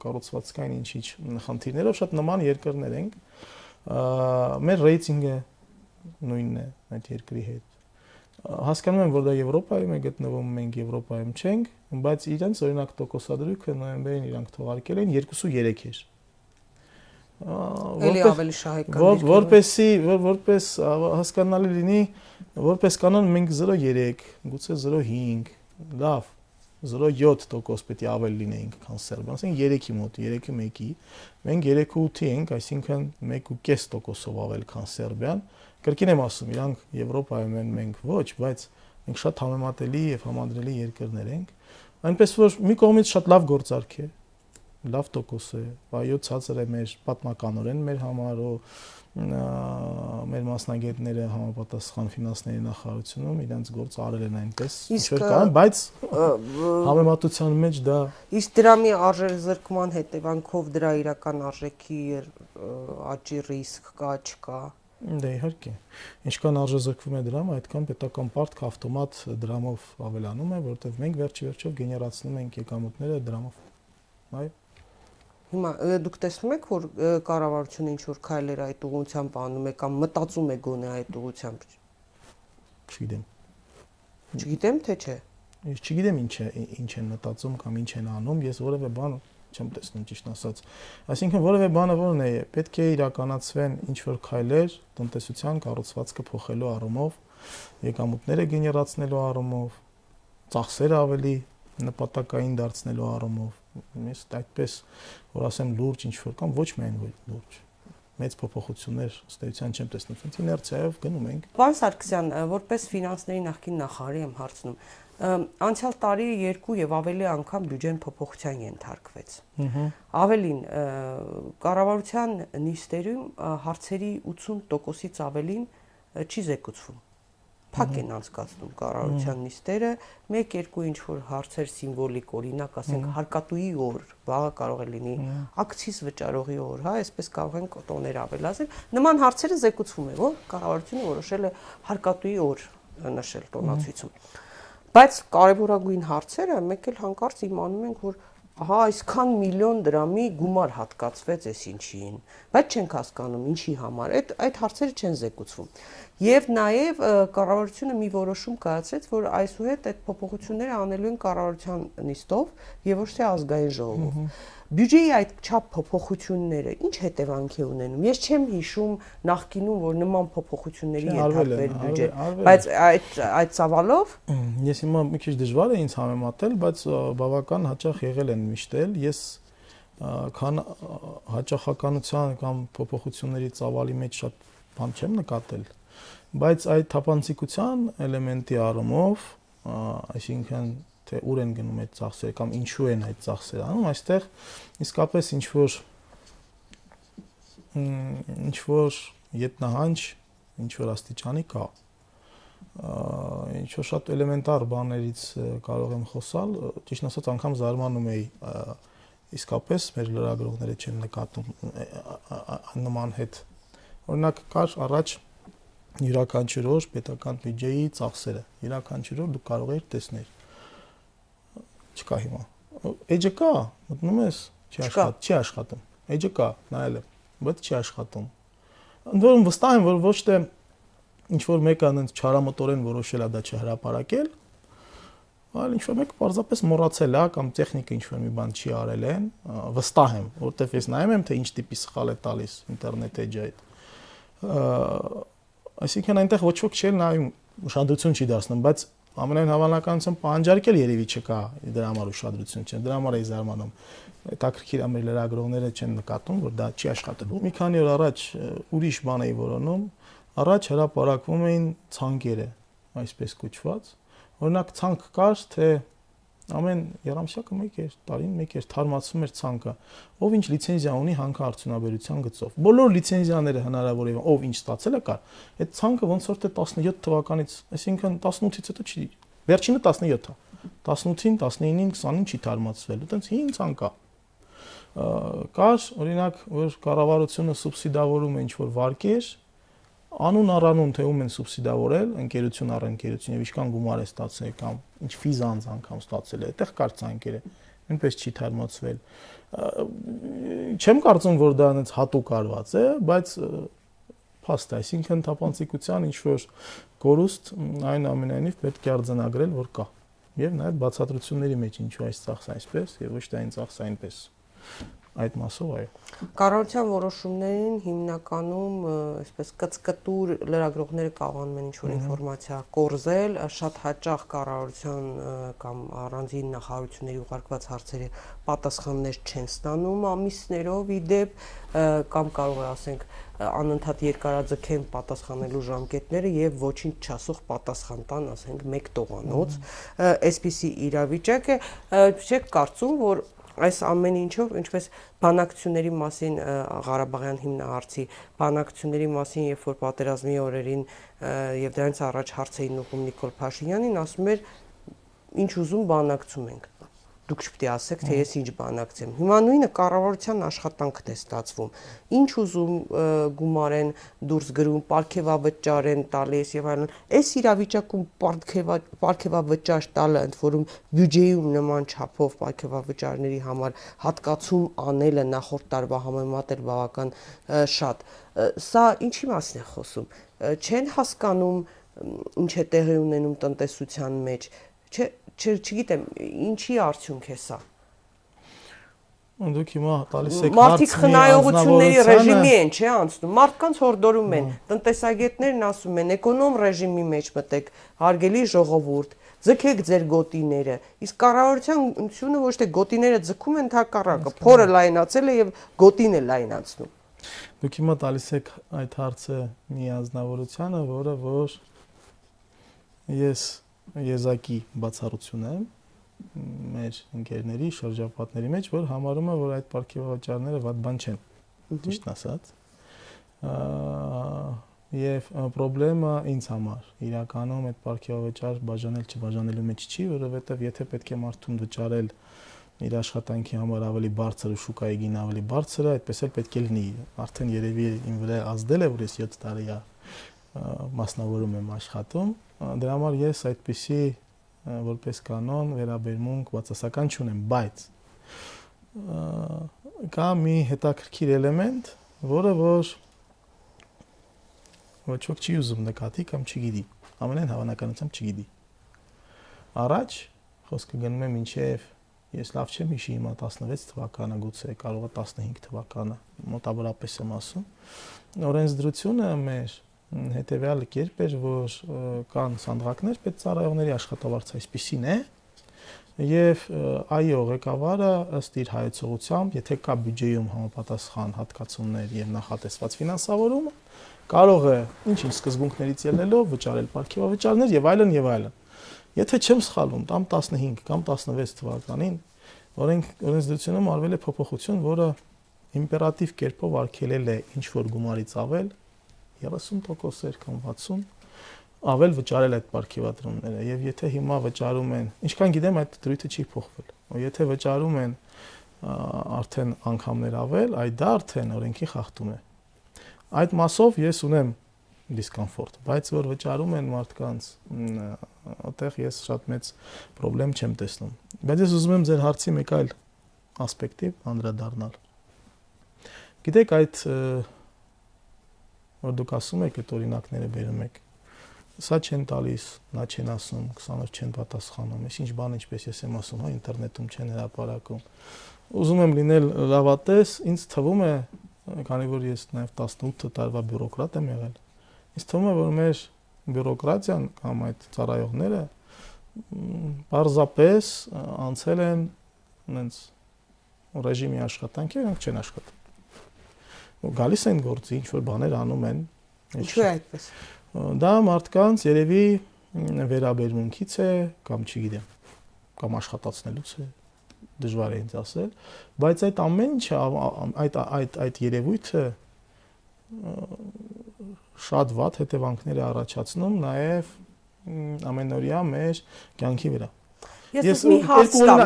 կառուցվածքային ինչ-ինչ խնդիրներով շատ նման երկրներ ենք։ Մեր ռեյտինգը նույնն է այդ երկրի հետ։ Հասկանում եմ, որ դա Եվրոպայում է գտնվում, մենք Եվրոպայում չենք, բայց իրենց օրինակ տոկոսադրույքը նոյեմբերին իրանք թողարկել են 2.3 էր։ Էլի ավելի շահեկան։ Որպես հասկանալի լինի, որպես կանոն մենք 0.3, գուցե 0.5, լավ, 0.7% պետք է ավել լինեինք, քան Սերբիան, ասենք 3-ի մոտ, 3-ի 1-ի, մենք 3.8 ենք, այսինքն 1.5%-ով ավել, քան Սերբիան։ Կրկին եմ ասում, իրանք Եվրոպայում են, մենք ոչ, բայց մենք շատ համեմատելի եւ համադրելի երկրներ ենք, այնպես որ մի կողմից շատ լավ գործարք է, լավ տոկոս է, այո, ցածր է մեր պատմականորեն մեր համար, մեր մասնագետները համապատասխան ֆինանսների նախարարությունում իրենց գործը արել են այնպես, ինչ-որ կան, բայց համեմատության մեջ դա իսկ դրամի արժեզրկման հետևանքով դրա իրական արժեքի աճի ռիսկ կա, չկա։ Դե իհարկե, ինչքան արժեզրկվում է դրամը, այդքան պետական պարտքը ավտոմատ դրամով ավելանում է, որովհետև մենք վերջիվերջով գեներացնում ենք եկամուտները դրամով։ Այո։ Հիմա դուք տեսնում եք, որ կառավարությունը ինչ որ քայլեր այդ ուղղությամբ անում է կամ մտածում է գոնե այդ ուղղությամբ։ Չգիտեմ։ Չգիտեմ, թե չէ։ Ես չգիտեմ ինչ են մտածում կամ ինչ են անում, ես որևէ բան չեմ տեսնում ճիշտ ասած։ Այսինքն որևէ բանը որն է, պետք է իրականացվեն ինչ որ քայլեր տնտեսության կառուցվածքը փոխելու առումով, եկամուտները գեներացնելու առումով, ծախսերը ավելի նպատակային դարձնելու առումով։ Ես այդպես որ ասեմ լուրջ ինչ որ կամ ոչ միայն լուրջ մեծ փոփոխություններ ըստ էության չեմ տեսնում, իներցիայով գնում ենք։ Պարոն Սարգսյան, որպես ֆինանսների նախկին նախարարի եմ հարցնում, անցյալ տարի 2 եւ ավելի անգամ բյուջեն փոփոխության ենթարկվեց։ Ավելին, կառավարության նիստերում հարցերի 80%-ից ավելին չի զեկուցվում։ Փակ են անցկացնում կառավարության նիստերը, 1-2 ինչ որ հարցեր սիմվոլիկ, օրինակ, ասենք հարկատուի օր, վաղը կարող է լինի ակցիզ վճարողի օր, հա, այսպես կարող են տոներ ավելացնել։ Նման հարցերը զեկուցվում է, որ կառավարությունը որոշել է հարկատուի օր նշել տոնացույցում։ Բայց կարևորագույն հարցերը մեկ էլ հանկարծ իմանում ենք, որ ահա այսքան միլիոն դրամի գումար հատկացվեց էս ինչին, բայց չենք հասկանում ինչի համար, այդ հարցերը չեն զեկուցվում։ Եվ նաև կառավարությունը մի որոշում կայացրեց, որ այսուհետ այդ փոփոխությունները անելու են կառավարության նիստով եւ ոչ թե ազգային ժողովով։ Բյուջեի այդ չափ փոփոխությունները ինչ հետևանք է ունենում։ Ես չեմ հիշում նախկինում, որ նման փոփոխությունների ենթարկվեր բյուջե, բայց այդ ծավալով ես հիմա մի քիչ դժվար է ինձ համեմատել, բայց բավական հաճախ եղել են միշտ էլ։ Ես քան հաճախականության կամ փոփոխությունների ծավալի մեջ շատ բան չեմ նկատել, բայց այդ թափանցիկության էլեմենտի առումով, այսինքն թե ուր են գնում այդ ծախսերը կամ ինչու են այդ ծախսերը անում, այստեղ իսկապես ինչ որ ետնահանջ, ինչ որ աստիճանի կա, ինչ որ շատ էլեմենտար բաներից կարող եմ խոսալ, ճիշտ ասած անգամ զարմանում էի, իսկապես մեր լրագրողները չեն նկատում նման հետ։ Օրինակ կար առաջ յուրաքանչյուր օր պետական բյուջեի ծախսերը, յուրաքանչյուր օր դուք կարող եք տեսնել։ Չկա հիմա։ Էջը կա, մտնում ես, չի աշխատում։ Էջը կա, նայել եմ, բայց չի աշխատում։ Ընդ որում վստահ եմ, որ ոչ թե ինչ որ մեկը այնց չարամտորեն որոշել է դա չհրապարակել, այլ ինչ որ մեկը պարզապես մոռացել է կամ տեխնիկը ինչ որ մի բան չի արել են, վստահ եմ, որովհետև ես նայում եմ թե ինչ տիպի սխալ է տալիս ինտերնետ էջը այդ։ Այսինքն այնտեղ ոչ ոք չի նայում, ուշադրություն չի դարձնում, բայց ամենայն հավանականությամբ պահանջարկել երևի չկա դրա համար ուշադրություն չեն, դրա համար էի զարմանում։ Հետաքրքիր է մեր լրագրողները չեն նկատում, որ դա չի աշխատելու։ Մի քանի օր առաջ ուրիշ բան էի որոնում, առաջ հրապարակվում էին ցանկերը, այսպես կոչված։ Օրինակ ցանկ կար, թե ամեն երամսյակը մեկ էր, տարին մեկ էր, թարմացվում էր ցանկը, ով ինչ լիցենզիա ունի հանքարդյունաբերության գծով։ Բոլոր լիցենզիաները հնարավոր է, ով ինչ ստացել է կար։ Այդ ցանկը ոնց որ թե 17 թվականից, այսինքն 18-ից հետո չի, վերջինը 17-ը, 18-ին, 19-ին, 20-ին չի թարմացվել, այտենց 5 ցանկ է։ Կար, օրինակ, որ կառավարությունը սուբսիդավորում է ինչ որ վարկեր, անուն առանուն թե ում են սուբսիդավորել, ընկերություն առ ընկերություն եւ ինչքան գումար է ստացել կամ ինչ ֆիզանց անգամ ստացել է, այդտեղ կար ցանկերը, նույնպես չի թարմացվել։ Չեմ կարծում, որ դա այնց հատուկ արված է, բայց փաստ է, այսինքն թափանցիկության ինչ որ կորուստ այն ամենայնիվ պետք է արձանագրել, որ կա։ Եվ նաեւ բացատրությունների մեջ ինչու այս ծախսը այսպես եւ ոչ թե այն ծախսը այնպես։ Այդ մասով այո։ Կառավարության որոշումներին հիմնականում այսպես կծկտուր լրագրողները կարողանում են ինչ-որ ինֆորմացիա կորզել, շատ հաճախ կառավարության կամ առանձին նախարարությունների ուղարկված հարցերի պատասխաններ չեն ստանում ամիսներով իդեպ կամ կարող է ասենք անընդհատ երկարաձգեն պատասխանելու ժամկետները եւ ոչինչ չասող պատասխան տան, ասենք 1 տողանոց, այսպիսի իրավիճակ է, չեք կարծում, որ այս ամեն ինչով, ինչպես բանակցությունների մասին Ղարաբաղյան հիմնահարցի բանակցությունների մասին, երբ որ պատերազմի օրերին եւ դրանից առաջ հարց էին ուղղում Նիկոլ Փաշինյանին, ասում էր ինչ ուզում բանակցում ենք։ Դուք չպետք է ասեք, թե ես ինչ բանակցեմ։ Հիմա նույնը կառավարության աշխատանքն է ստացվում։ Ինչ ուզում գումար են դուրս գրում, պարգևավճար են տալիս եւ այլն։ Այս իրավիճակում պարգևավճար տալը, ընդ որում բյուջեում նման չափով պարգևավճարների համար հատկացում անելը նախորդ տարվա համեմատել բավական շատ։ Սա ինչի մասին է խոսում։ Չեն հասկանում ինչ է տեղի ունենում տնտեսության մեջ։ Չգիտեմ, ինչի արդյունք է սա։ Դուք հիմա տալիս եք մարդիկ խնայողությունների ռեժիմի են, չէ՞ անցնում։ Մարդկանց հորդորում են, տնտեսագետներն ասում են, էկոնոմ ռեժիմի մեջ մտեք, հարգելի ժողովուրդ, ձգեք ձեր գոտիները։ Իսկ կառավարությունը ոչ թե գոտիները ձգում են, հակառակը, փորը լայնացել է եւ գոտին է լայնացնում։ Դուք հիմա տալիս եք այդ հարցը մի անձնավորությանը, որը որ ես եզակի բացառություն եմ մեր ընկերների շրջապատների մեջ, որ համարում է, որ այդ պարգևավճարները վատ բան չեն, ճիշտ ասած։ Եվ խնդրեմը ինձ համար իրականում այդ պարգևավճար բաժանել չբաժանելու մեջ չի, որովհետև եթե պետք է մարդուն վճարել իր աշխատանքի համար ավելի բարձր ու շուկայի գին ավելի բարձր, այդպես էլ պետք է լինի։ Արդեն երևի իմ վրա ազդել է, որ ես 7 տարի մասնավորում եմ աշխատում, դրա համար ես այդպիսի որպես կանոն վերաբերմունք բացասական չունեմ, բայց կա մի հետաքրքիր էլեմենտ, որը որ ոչ ոք չի ուզում նկատի կամ չգիտի։ Ամենայն հավանականությամբ չգիտի։ Առաջ խոսքը գնում է մինչև ես լավ չեմ հիշի հիմա 16 թվականը, գուցե կարող է 15 թվականը, մոտավորապես եմ ասում։ Օրենսդրությունը մեր հետևյալ կերպ էր, որ կան սանդղակներ պետծառայողների աշխատավարձ այսպիսին է, եւ այո, ղեկավարը ըստ իր հայեցողությամբ, եթե կա բյուջեում համապատասխան հատկացումներ եւ նախատեսված ֆինանսավորումը, կարող է ինչ-ինչ սկզբունքներից ելնելով վճարել պարգևավճարներ եւ այլն եւ այլն։ Եթե չեմ սխալվում, կամ 15 կամ 16 թվականին օրենսդրությունում արվել է փոփոխություն, որը իմպերատիվ կերպով արգելել է ինչ որ գումարից ավել 30% կամ 60% ավել վճարել այդ պարգևատրոնները եւ եթե հիմա վճարում են, ինչքան գիտեմ այդ դրույթը չի փոխվել։ Եթե վճարում են արդեն անգամներ ավել, այդ դա արդեն օրենքի խախտում է։ Այդ մասով ես ունեմ դիսկոմֆորտ, բայց որ վճարում են մարդկանց, այդտեղ ես շատ մեծ խնդրեմ չեմ տեսնում։ Բայց ես ուզում եմ ձեր հարցի մեկ այլ ասպեկտի անդրադառնալ։ Գիտեք, այդ որ դուք ասում եք, այդ օրինակները բերում եք, սա չեն տալիս, նա չեն ասում, 20 օր չեն պատասխանում, ես ինչ բան ինչպես ես եմ ասում, հա, ինտերնետում չեն հրապարակում։ Ուզում եմ լինել լավատես, ինձ թվում է, քանի որ ես նաև 18 տարվա բյուրոկրատ եմ եղել, ինձ թվում է, որ մեր բյուրոկրատիան կամ այդ ծառայողները պարզապես անցել են այնց ռեժիմի աշխատանքի, իրենք չեն աշխատում։ Գալիս են գործի, ինչ որ բաներ անում են։ Ինչու է այդպես։ Դա մարդկանց երևի վերաբերմունքից է, կամ չգիտեմ, կամ աշխատացնելուց է, դժվար է ինձ ասել, բայց այդ ամեն ինչը, այդ երևույթը շատ վատ հետևանքներ է առաջացնում նաև ամենօրյա մեր կյանքի վրա։ Ես մի հարց տամ,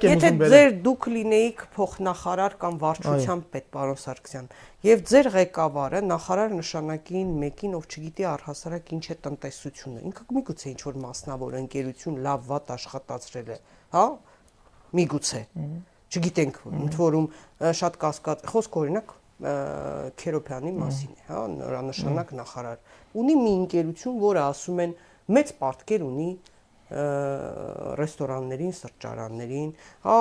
եթե ձեր դուք լինեիք փոխնախարար կամ վարչության պետ, պարոն Սարգսյան, եւ ձեր ղեկավարը նախարար նշանակին մեկին, ով չգիտի առհասարակ ինչ է տնտեսությունը, ինքը միգուցե ինչ որ մասնավոր ընկերություն լավ վատ աշխատացրել է, հա, միգուցե, չգիտենք, ընդ որում շատ կասկած, խոսք օրինակ Քերոբյանի մասին է, հա, նորանշանակ նախարար, ունի մի ընկերություն, որը ասում են մեծ պարտքեր ունի ռեստորաններին, սրճարաններին, հա,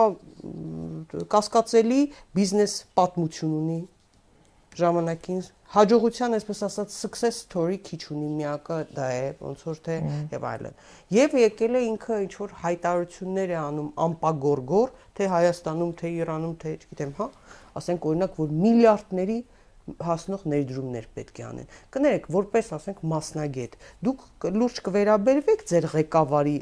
կասկածելի բիզնես պատմություն ունի, ժամանակին հաջողության, այսպես ասած, success story քիչ ունի, միակը դա է, ոնց որ թե եւ այլն։ Եվ եկել է ինքը ինչ որ հայտարարություններ է անում ամպագորգոր, թե Հայաստանում, թե Իրանում, թե չգիտեմ, հա, ասենք օրինակ, որ միլիարդների հասնող ներդրումներ պետք է անեն։ Կներեք, որպես ասենք մասնագետ, դուք լուրջ կվերաբերվեք ձեր ղեկավարի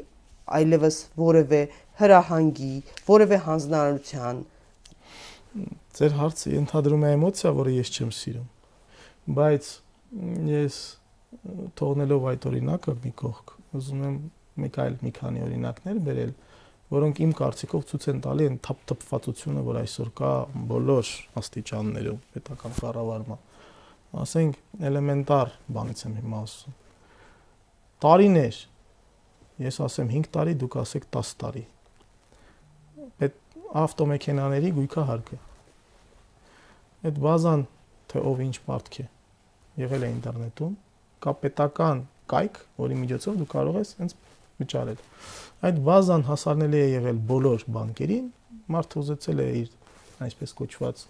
այլևս որևէ հրահանգի, որևէ հանձնարարության։ Ձեր հարցը ընդհանրում է էմոցիա, որը ես չեմ սիրում, բայց ես թողնելով այդ օրինակը մի կողք, ուզում եմ մի քանի օրինակներ բերել, որոնք իմ կարծիքով ցույց են տալի այն թափթփվածությունը, որ այսօր կա բոլոր աստիճաններում պետական կառավարման։ Ասենք էլեմենտար բանից եմ հիմա ասում։ Տարիներ, ես ասեմ 5 տարի, դուք ասեք 10 տարի։ Այդ ավտոմեքենաների գույքահարկը։ Այդ բազան, թե ով ինչ պարտք է, եղել է ինտերնետում, կա պետական կայք, որի միջոցով դու կարող ես հենց վճարել։ Այդ բազան հասանելի է եղել բոլոր բանկերին, մարդը ուզեցել է իր այսպես կոչված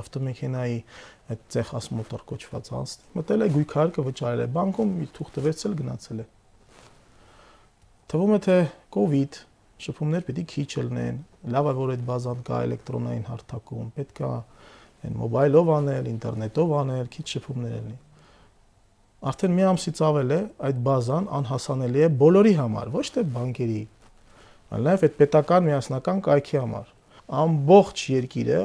ավտոմեքենայի այդ ցեխասմոտոր կոչված անցնել, մտել է գույքարկը վճարել է բանկում, իր թուղթը վերցել գնացել է։ Թվում է թե COVID շփումներ պետք է քիչ լինեն, լավ է որ այդ բազան կա էլեկտրոնային հարթակում, պետք է այն մոբայլով անել, ինտերնետով անել, քիչ շփումներ լինի։ Արդեն մի ամսից ավել է այդ բազան անհասանելի է բոլորի համար, ոչ թե բանկերի, այլ նաև այդ պետական միասնական կայքի համար։ Ամբողջ երկիրը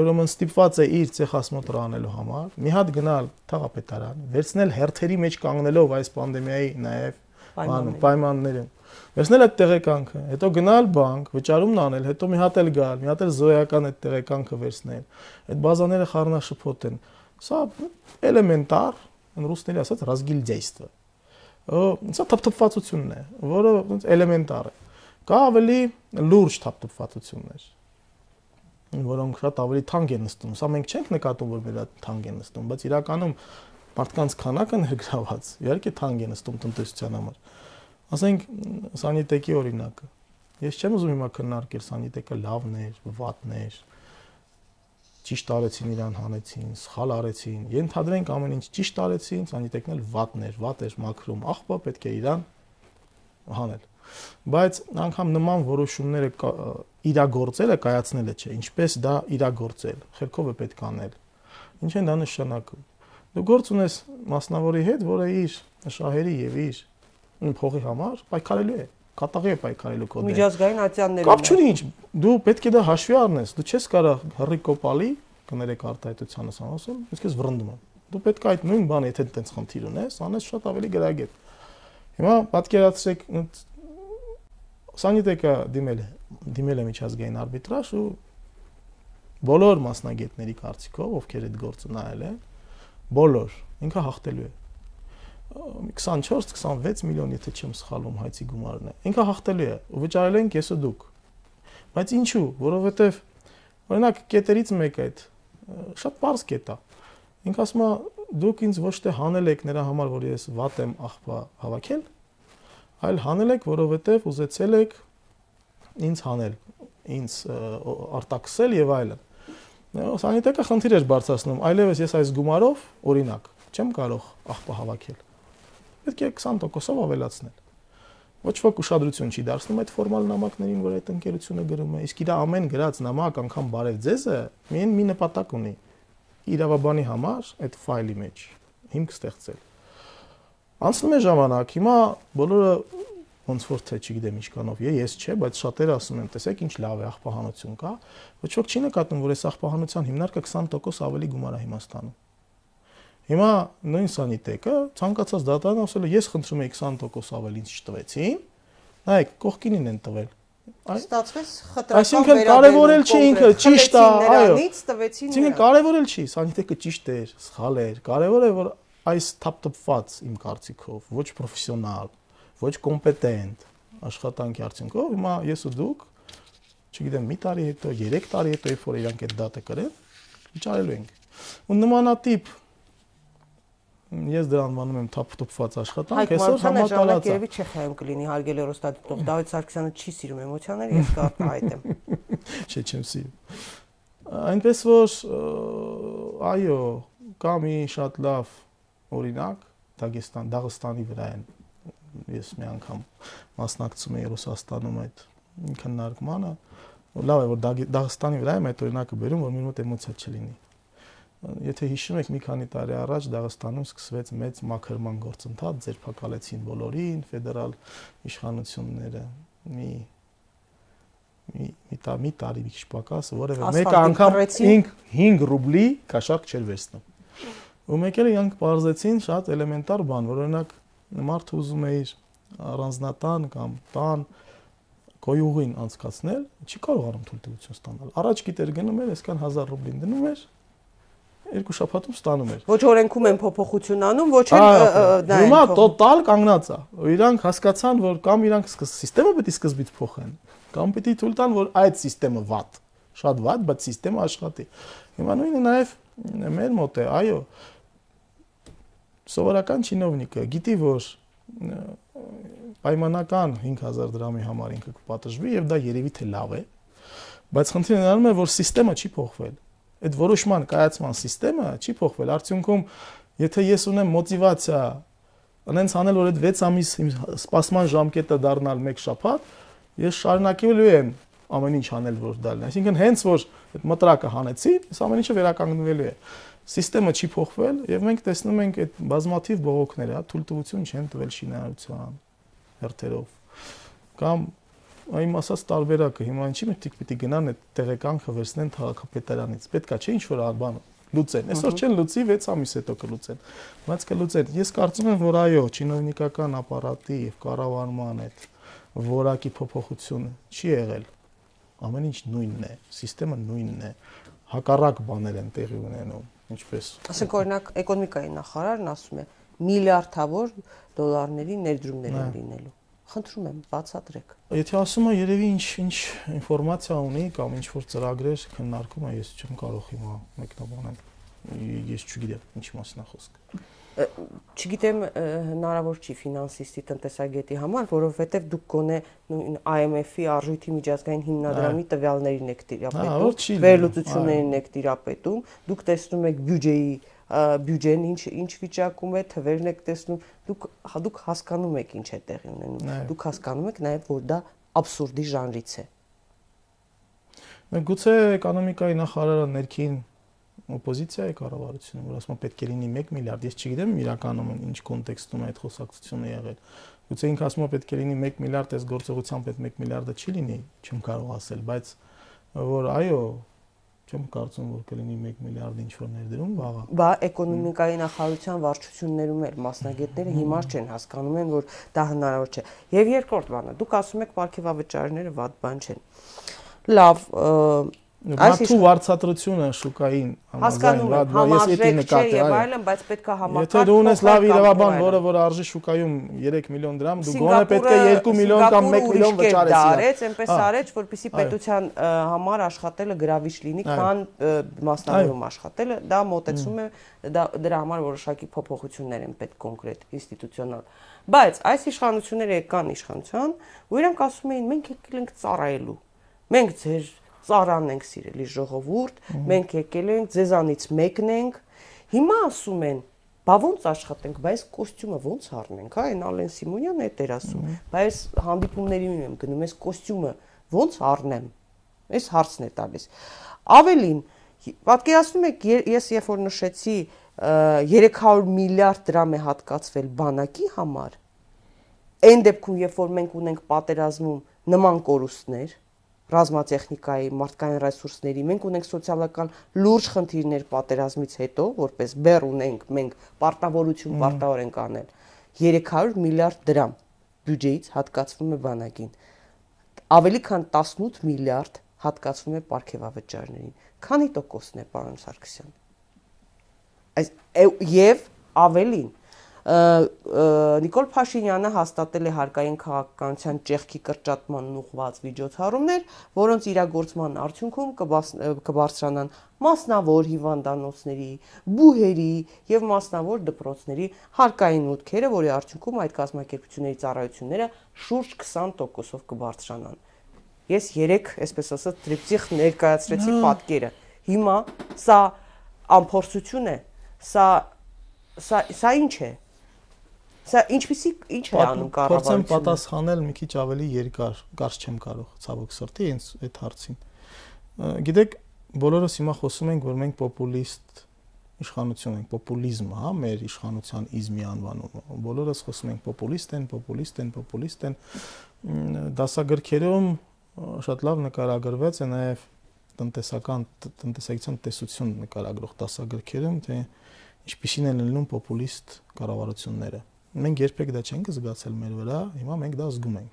ուրեմն ստիպված է իր ցեխասմոտը անելու համար մի հատ գնալ թաղապետարան, վերցնել հերթերի մեջ կանգնելով այս պանդեմիայի նաև պայմաններում, վերցնել այդ տեղեկանքը, հետո գնալ բանկ, վճարումն аնել, հետո մի հատ էլ գալ, մի հատ էլ զոյական այդ տեղեկանքը վերցնել։ Այդ բազաները խառնաշփոթ են։ Սա էլեմենտար ռուսների ասած разгильдяйство։ Սա թափթփվածությունն է, որը էլեմենտար է։ Կա ավելի լուրջ թափթփվածություններ, որոնք շատ ավելի թանկ են նստում։ Սա մենք չենք նկատում, որ մեր թանկ են նստում, բայց իրականում մարդկանց քանակը ներգրաված, իհարկե թանկ է նստում տնտեսության համար։ Ասենք սանիտեկի օրինակը։ Ես չեմ ուզում հիմա քննարկել սանիտեկը լավն էր, վատն էր, ճիշտ արեցին իրան հանեցին, սխալ արեցին։ Ենթադրենք ամեն ինչ ճիշտ արեցին, սանիտեկն էլ վատն էր, վատ էր մաքրում, աղբա պետք է իրան հանել։ Բայց անգամ նման որոշումները իրագործելը կայացնելը չէ, ինչպես դա իրագործել, խելքով է պետք անել։ Ինչ են դա նշանակում։ Դու գործ ունես մասնավորի հետ, որը իր շահերի եւ իր փողի համար պայքարելու է, կատաղի է պայքարելու քո դեմ։ Միջազգային ատյաններում։ Կապ չունի ինչ, դու պետք է դա հաշվի առնես, դու չես կարող հռի կոպալի, կներեք արտահայտությանս ասում, իսկ ես վռնդում եմ։ Դու պետք է այդ նույն բանը, եթե այդպես խնդիր ունես, անես շատ ավելի գրագետ։ Հիմա պատկերացրեք սանիտեկը դիմել է միջազգային արբիտրաժ ու բոլոր մասնագետների կարծիքով, ովքեր այդ գործը նայել են, բոլոր ինքը հաղթելու է 24-26 միլիոն, եթե չեմ սխալվում, հայցի գումարն է։ Ինքը հաղթելու է ու վճարել են կեսը դուք։ Բայց ինչու? Որովհետև օրինակ կետերից մեկը այդ շատ པարզ կետ է։ Ինքը ասում է դուք ինձ ոչ թե հանել եք նրա համար, որ ես վատ եմ աղբա հավաքել, այլ հանել եք, որովհետև ուզեցել եք ինձ հանել, ինձ արտաքսել եւ այլն։ Սանիտեկը խնդիր էր բարձրացնում, այլևս ես այս գումարով, օրինակ, չեմ կարող աղբա հավաքել։ Պետք է 20%-ով ավելացնել։ Ոչ ոք ուշադրություն չի դարձնում այդ ֆորմալ նամակներին, որ այդ ընկերությունը գրում է, իսկ իր ամեն գրած նամակ անգամ բարև ձեզը միայն մի նպատակ ունի՝ իրավաբանի համար այդ ֆայլի մեջ հիմք ստեղծել։ Անցնում է ժամանակ, հիմա բոլորը ոնց որ թե չգիտեմ ինչքանով ես չէ, բայց շատերը ասում են, տեսեք ինչ լավ է աղբահանություն կա, ոչ ոք չի նկատում, որ այս աղբահանության հիմնարկը 20% ավելի գումար է հիմա ստանում։ Հիմա նույն սանիտեկը ցանկացած դատարան ասել է, ես խնդրում եմ 20% ավելի ինձ չտվեցին, նայեք, կողքինին են տվել։ Ստացվեց խտրական Այսինքն կարևորել չի ինքը, ճիշտ է, այո։ Այսինքն կարևորել չի, սանիտեկը ճիշտ էր, սխալ էր, կարևոր է որ այս թափթփված իմ կարծիքով, ոչ պրոֆեսիոնալ, ոչ կոմպետենտ աշխատանքի արդյունքով հիմա ես ու դուք, չգիտեմ, մի տարի հետո, 3 տարի հետո, երբ որ իրանք այդ դատը կրեն, վճարելու ենք։ Ու նմանատիպ ես դրան անվանում եմ թափթփված աշխատանք, այսօր համատարած է։ Երևի Չեխիայում կլինի հարգելի հեռուստադիտող, Դավիթ Սարգսյանը չի սիրում էմոցիաները, ես կարտահայտեմ։ Չէ, չեմ սիրում։ Այնպես որ այո, կա մի շատ լավ օրինակ Դաղստանի վրա են, ես մի անգամ մասնակցում եմ Ռուսաստանում այդ քննարկմանը, լավ է որ Դաղստանի վրա եմ այդ օրինակը բերում, որ մի մոտ էմոցիա չլինի։ Եթե հիշում եք, մի քանի տարի առաջ Դաղստանում սկսվեց մեծ մաքրման գործընթաց, ձերբակալեցին բոլորին, ֆեդերալ իշխանությունները, մի տարի մի քիչ պակաս, որևէ մեկը անգամ 5 ռուբլի կաշառք չէր վերցնում։ Ու մեկերը իրանք բարձեցին շատ էլեմենտար բան, որ օրինակ մարդը ուզում է իր առանձնատան կամ տան գոյուղին անցկացնել, չի կարողանում թույլտվություն ստանալ։ Առաջ գիտեր գնում էր, այսքան 1000 ռուբլին դնում էր, 2 շաբաթում ստանում էր։ Ոչ օրենքում են փոփոխություն անում, ոչ էլ հիմա տոտալ կանգնած է։ Իրանք հասկացան, որ կամ իրանք սիստեմը պետք է սկզբից փոխեն, կամ պետք է թույլ տան, որ այդ սիստեմը վատ, շատ վատ, բայց սիստեմը աշխատի։ Հիմա նույնը նաև մեր մոտ է, այո։ Սովորական չինովնիկը գիտի, որ պայմանական 5000 դրամի համար ինքը կպատժվի եւ դա երևի թե լավ է, բայց խնդիրը նրանում է, որ սիստեմը չի փոխվել։ Այդ որոշման կայացման սիստեմը չի փոխվել։ Արդյունքում, եթե ես ունեմ մոտիվացիա անենց անել, որ այդ 6 ամիս սպասման ժամկետը դառնալ 1 շաբաթ, ես շարունակելու եմ ամեն ինչ անել, որ դա լինի։ Այսինքն հենց որ այդ մտրակը հանեցի, այս ամեն ինչը վերականգնվելու է։ Սիստեմը չի փոխվել եւ մենք տեսնում ենք այդ բազմաթիվ բողոքները, թույլտվություն չեն տվել շինարարության հերթերով։ Կամ այն ասած տարբերակը հիմա ինչի՞ մտիկ պիտի գնան այդ տեղեկանքը վերցնեն քաղաքապետարանից։ Պետքա չէ ինչ որ բան լուծեն։ Այսօր չեն լուծի 6 ամիս հետո կլուծեն։ Բայց կլուծեն։ Ես կարծում եմ, որ այո, չինովնիկական ապարատի եւ կառավարման այդ որակի փոփոխությունը չի եղել։ Ամեն ինչ նույնն է, սիստեմը նույնն է, հակառակ բաներ են տեղի ունենում, ինչպես։ Ասենք օրինակ էկոնոմիկայի նախարարն ասում է միլիարդավոր դոլարների ներդրումներ են լինելու։ Խնդրում եմ, բացատրեք։ Եթե ասում է երևի ինչ ինֆորմացիա ունի կամ ինչ որ ծրագրեր քննարկում է, ես չեմ կարող հիմա մեկնաբանել։ ես չգիտեմ ինչի մասն է խոսքը։ Չգիտեմ, հնարավոր չի ֆինանսիստի տնտեսագետի համար, որովհետև դուք գոնե IMF-ի արժույթի միջազգային հիմնադրամի տվյալներին եք տիրապետում, վերլուծություններին եք տիրապետում, դուք տեսնում եք բյուջեն ինչ վիճակում է, թվերն եք տեսնում, դուք հասկանում եք ինչ է տեղի ունենում, դուք հասկանում եք նաև, որ դա աբսուրդի ժանրից է։ Գուցե էկոնոմիկայի նախարարը ներքին օպոզիցիա է կառավարությունը, որ ասում է պետք է լինի 1 միլիարդ, ես չգիտեմ իրականում ինչ կոնտեքստում է այդ խոսակցությունը եղել։ Գուցե ինքը ասում է պետք է լինի 1 միլիարդ, այս գործողությամբ այդ 1 միլիարդը չի լինի, չեմ կարող ասել, բայց որ այո, չեմ կարծում որ կլինի 1 միլիարդ ինչ որ ներդրում վաղը։ Բա էկոնոմիկայի նախարարության վարչություններում էլ մասնագետները հիմար չեն, հասկանում են, որ դա հնարավոր չէ։ Եվ երկրորդ բանը, դուք ասում եք պարգևավճարները վատ բան չեն։ Լավ, Մարդու վարձատրությունը շուկային համաձայն ես էդի նկատի եւ այլն, բայց պետք է համակարգ։ Եթե դու ունես լավ իրավաբան, որ արժի շուկայում 3 միլիոն դրամ, դու գոնե պետք է 2 միլիոն կամ 1 միլիոն վճարես։ Արեց, այնպես արեց, որպեսզի պետության համար աշխատելը գրավիչ լինի, քան մասնավորում աշխատելը, դա մոտեցում է, դրա համար որոշակի փոփոխություններ են պետք կոնկրետ ինստիտուցիոնալ։ Բայց այս իշխանությունները եկան իշխանության, ու իրանք ասում էին մենք եկել ենք ծառայելու։ Մենք ձեր ծառան ենք սիրելի ժողովուրդ, մենք եկել ենք, ձեզանից մեկն ենք, հիմա ասում են, բա ոնց աշխատենք, բայց կոստյումը ոնց առնենք, հա, այն Ալեն Սիմոնյանն է դեր ասում, բայց հանդիպումներին եմ գնում, այս կոստյումը ոնց առնեմ, այս հարցն է տալիս։ Ավելին, պատկերացնում եք, ես երբ որ նշեցի 300 միլիարդ դրամ է հատկացվել բանակի համար, այն դեպքում, երբ որ մենք ունենք պատերազմում նման կորուստներ, ռազմատեխնիկայի, մարդկային ռեսուրսների, մենք ունենք սոցիալական լուրջ խնդիրներ պատերազմից հետո, որպես բեռ ունենք, մենք պարտավորություն պարտավոր ենք անել, 300 միլիարդ դրամ բյուջեից հատկացվում է բանակին, ավելի քան 18 միլիարդ հատկացվում է պարգևավճարներին, քանի տոկոսն է, պարոն Սարգսյան, եւ ավելին, Նիկոլ Փաշինյանը հաստատել է հարկային քաղաքականության ճեղքի կրճատման ուղղված միջոցառումներ, որոնց իրագործման արդյունքում կբարձրանան մասնավոր հիվանդանոցների, բուհերի եւ մասնավոր դպրոցների հարկային մուտքերը, որի արդյունքում այդ կազմակերպությունների ծառայությունները շուրջ 20%-ով կբարձրանան։ Ես 3, այսպես ասած, տրիպտիխ ներկայացրեցի պատկերը։ Հիմա սա անփորձություն է, սա ինչ է։ Սա ինչ է անում կառավարությունը։ Փորձեմ պատասխանել մի քիչ ավելի երկար, կարճ չեմ կարող, ցավոք սրտի, ինձ այդ հարցին։ Գիտեք, բոլորս հիմա խոսում ենք, որ մենք պոպուլիստ իշխանություն ենք, պոպուլիզմ, հա, մեր իշխանության իզմի անվանումը։ Բոլորս խոսում ենք պոպուլիստ են։ Դասագրքերում շատ լավ նկարագրված է նաև տնտեսական տեսություն նկարագրող դասագրքերում, թե ինչպիսին են լինում պոպուլիստ կառավարությունները։ Մենք երբեք դա չենք զգացել մեր վրա, հիմա մենք դա զգում ենք։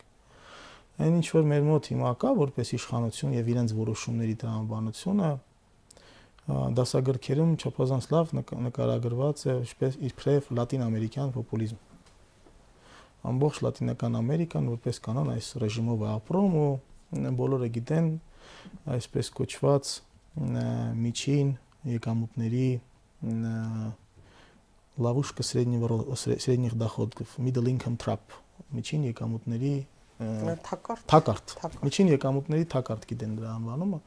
Այն ինչ որ մեր մոտ հիմա կա, որպես իշխանություն եւ իրենց որոշումների տրամաբանությունը, դասագրքերում չափազանց լավ նկարագրված է իբրև լատինամերիկյան պոպուլիզմ։ Ամբողջ Լատինական Ամերիկան որպես կանոն այս ռեժիմով է ապրում ու բոլորը գիտեն այսպես կոչված միջին եկամուտների լավուշկա средних доходов, middle income trap, միջին եկամուտների թակարդ, միջին եկամուտների թակարդ գիտեն դրա անվանումը։